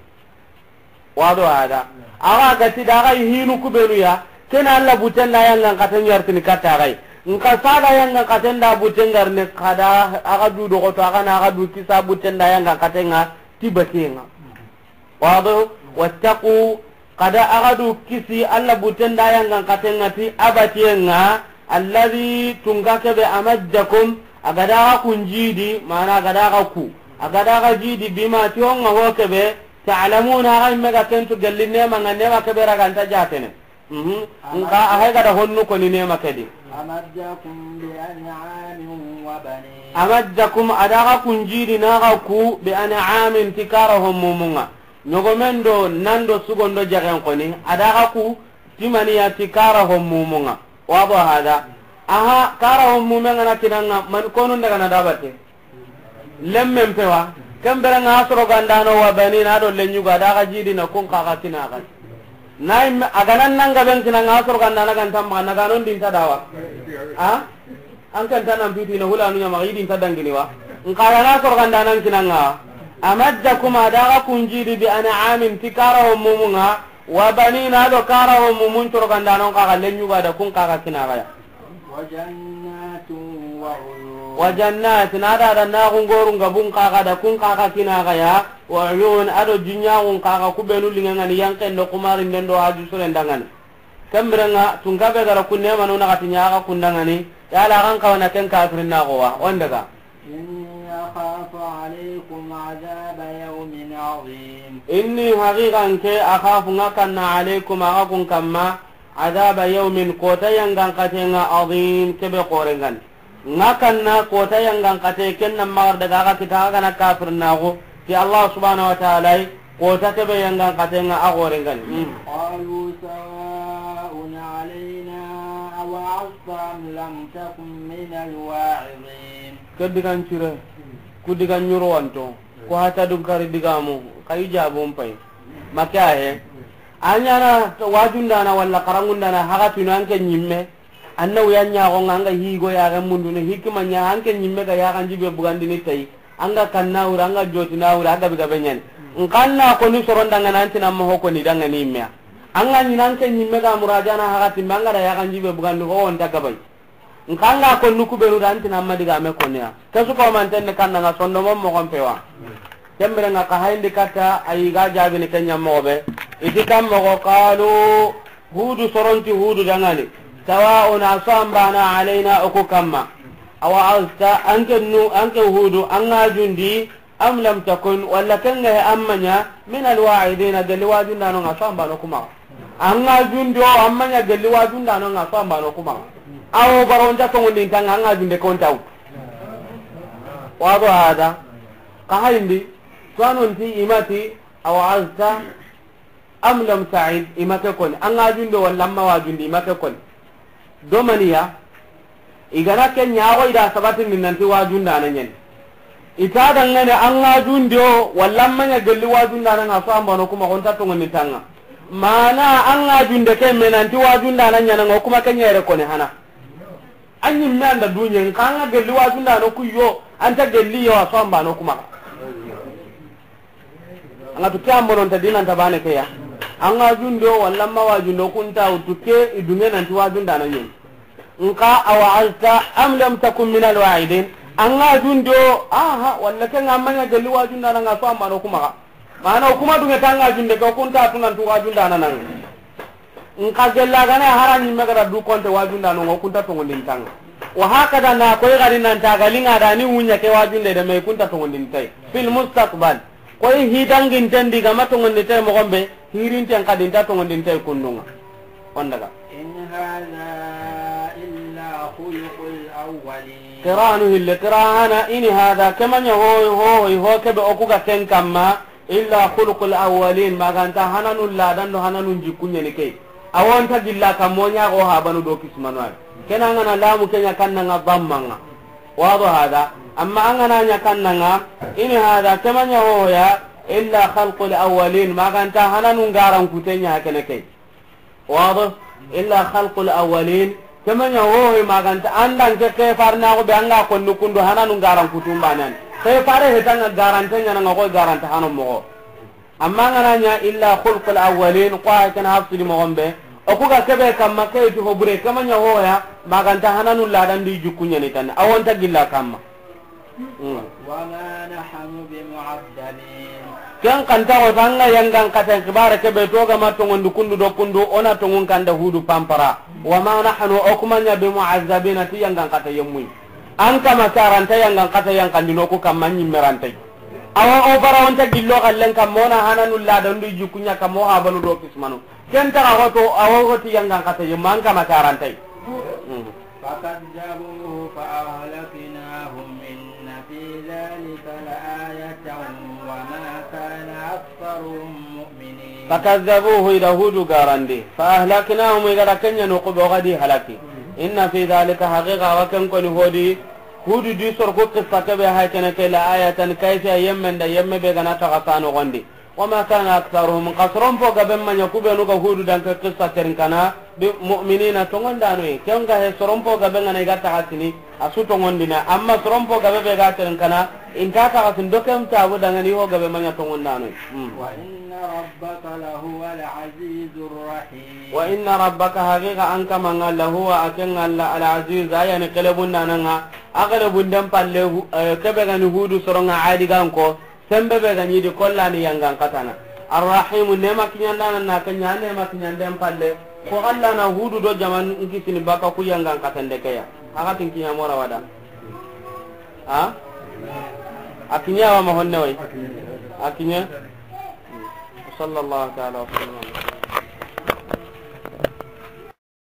واضح هذا؟ A ga ga ti da ga hinu kubenu ya, ken Alla butten da yangan katen yartini katta ga yi. Nka saga yangan katen da butten garne, xa da a ga du dogoto, a ga na a ga du kisa butten da yangan katenga ti batiyenga. واضح؟ واتقوا, xa da a ga du kisi Alla butten da yangan katenga ti a batiyenga, الذي, tunka kebe, أمدكم, a ga da xa kunjidi, mana a ga da xa ku, a ga da xa jidi, بما, ti o nga ho kebe, تعلمون, a ga yimme ga kentu gelli nemanga, nema kebe raganta jatene. Mhm. Nka a hay ga da honnu koni nema kedi. أمدكم بأنعام وبنين. أمدكم, a da xa kunjidi na xa ku, بأنعام, ti kara hommumunga. Ɲogomen do nan do sugon do jagen koni, a da xa ku ti mani ya, ti kara hommumunga. واضح هذا؟ Aha, kara hommumenga na kinanga, man konun daga na dabate. Lemmen pewa, ken birenga a soro gandano, وبنين, a do lenyugo, a da xa jidi na kun kaga kina ga. Na imme, a ga nan nanga ben kina nga a soro gandana ganta ma na ganon dinta dawa. Ha? An kan tanan piti na hulanu ɲama, i dinta dangini wa. Nka ga na soro gandana kina nga. أمدكم, a da xa kunjidi, بأنعام, ti kara hommumunga, وبنين, a do kara hommumun soro gandano kaga lenyugo a da kun kaga kina ga ya. وجنات وعيون. وجنات, na da da na gungorun gabun kaga da kun kaga kina ga ya, وعيون, a do jinyagun kaga kubenu lingangani yanken do kumarin den do haju suren dangani. Ken birenga tunka be gara kunne manu na gati ɲaga kundangani, yala kan kawana ken kafirin na gowa, on daga. إني أخاف عليكم عذاب يوم عظيم. إني, haqiqan ke, أخاف, nga kanna, عليكم, a ga kun kamma, عذاب يوم, kota yangan katenga, عظيم, kebe korengan. Nga kanna kota yangan kate, ken na magar daga a ga kita a ga na kafir nago ti Allah subhanahu wa ta'ala, kota kebe yangan katenga a gorengan. Hmm. قالوا سواء علينا أوعظت أم لم تكن من الواعظين. Ke digan cire, ku digan ɲuro wanto, ku hata dun kari digamu, kayi jabun pay. Make a he. A ɲana wajundana walla karangundana haga tunu anke ɲimme. Anna wuya ɲaxonga anga higo yaxen mundunu hikima ɲa anke ɲimme ga yaxan jibe bugandini tayi. An ga kanna wuri, an ga joti na wuri, a gabe gabe ɲani. N kanna ko ni soron dangana, an ti na moxo ko ni dangani meya. An ga ɲi nan ke ɲimme ga murajana haxati, ma an ga da yaxan jibe bugandi ho wonta gabay. N kanga ko nuku benu da, an ti na ma diga me koneya. Ke su ko man tenne kanna nga sondomon moxon pewa. Kembere nga ka hayndi katta, ayi ga jabini kenya moxo be. Iti kam moxo, qalu, Hudu soronti Hudu dangani. Sawa'un, a so an bana, alayna, o ku kamma. Awa azta, anke nu, anke Hudu, an ga jundi, am lam takun, walla kenga he an ma ɲa, min alwa'idina, gelli wajundano nga so an bano kuma. An ga jundi o, an ma ɲa gelli wajundano nga so an bano kuma. Awo baro nta tongondin tanga, an ga junde kon taw. Wado hada. Ka hayndi, to anonti imati, awa azta, am lam ta'id, i ma ke koni. An ga jundi o walla an ma wajundi, i ma ke koni. Domaniya, i gana ke ɲaxo i da sabatindi nanti wajundana ɲani. I ta dangane an ga jundi o, walla an ma ɲa gelli wajundana nga so an bano kuma, xonta tongoni tanga. Mana an ga junde ke me nanti wajundana ɲana nga, o kuma ke ɲere koni hana. An ɲimme an da duɲe, n kanga gelli wajundano ku yo, an ta gelli yo, a so an bano kuma. An ga tu ke an bonon ta dinan ta bane ke ya. An ga jundo, walla ma wajundo, kunta utu ke, i dunge nanti wajundana ɲen. Nka awa azta am lam takun min alwa'idin. An ga jundo, aha, walla ke nga ma ɲa gelli wajundana nga so an bano kuma. Mana o kuma dunge tanga junde ke, o kunta tu nanti wajundana nanga. Nka gella gana hara ɲimme ga da du konte wajundano nga, o kunta tongondin tanga. Wa hakada na koy gari nan ta galinga da ni wunya ke wajunde de me, kunta tongondin tay. Fil mustaqbal. Koy hidanginten di ga ma tongondin tay moxon be, hirinten kadinta tongondin tay kundunga. On daga. In hadha illa khuluqul awwalin. Qira'anu hille, qira'ana, in hadha, ke ma ɲa ho, ho, ho, ho, kebe o ku ga ken kamma, illa khuluqul awwalin, maganta hananun ladan do hananun jikku ɲeni ke. Awonta gilla kamma o ɲa go habanu do kismanu ay. Kena ngana lamu ke ɲa kannanga dammanga. Wado hada. Amma an gana ɲa kannanga, in hadha, ke ma ɲa ho ya, illa khalqul awwalin, maganta hananun garan kute ɲa kene ke. Wado, illa khalqul awwalin. Ke ma ɲa ho, ho, maganta, andan ke, ke farna go be an ga konni kundu hananun garan kutum banan. Ke fare hetanga garante ɲana nga ko garanta hano moxo. Amma ngana ɲa illa khalqul awwalin, ko ay kana hafsidi moxon be. O ku ga kebe kamma ke ti ho bure, ke ma ɲa ho ya, maganta hananun ladan di jikku ɲeni tan. Awonta gilla kamma. Hmm. Wa ma nahnu bimu'azzabin. Ken kanta ko tanga yangan kata kibare kebe to ga ma tongondi kundu do kundu, ona tongun kanda Hudu pampara. Wa ma nahnu, o ku ma ɲa, bimu'azzabina, ti yangan kata yemmuy. An kama karanta yangan kata yankandino ku kamma ɲimmerantay. Awa o bara onta gillo gallen kamma ona hananu ladandu jikku ɲa kamma o habanu do kismanu. Ken taga hoto awa hoti yangan kata yemma an kama karantay. Hmm. فكذبوه فأهلكناهم إن في ذلك لآية وما كان أكثرهم مؤمنين. فكذبوه, i da Hudu garandi. فأهلكناهم, i ga da ken ɲa noqu be, o ga di halaki. إن في ذلك, haqiqa wa ken koni hodi, Hudu di soro ku qissa kebe hay kene ke, لآية, kayfiya yemmen da, yemme be ga na taga sano gondi. وما كان أكثرهم, xa soron po gabe ma ɲa ku benu ga Hudu danke qissa kerinkana, بمؤمنين, tongondano yi. Ken ga he soron po gabe ngana i ga taga sini, a su tongondina. Amma soron po gabe be ga kerinkana, i nta taga sini, do ken tabu dangani ho gabe ma ɲa tongondano yi. Hmm. وإن ربك لهو العزيز الرحيم. وإن ربك, haqiqa an kamanga, لهو, a ken ŋa, العزيز, a yani kelebundananga, a kelebunden palle, hu-, eh, kebe gani Hudu soronga Adi ganko, Sembe be ga ɲi di kollani yangan katana. Arrahimu, nema kiɲandana na kenya, nema kiɲanden palle. Ko Allah na Hudu do jaman nkisini baka ku yangan katande keya. Aga tin kiɲa mora wada. Ha? A kiɲa wa ma honne way. A kiɲa. Sallallahu ta'ala wa sallam.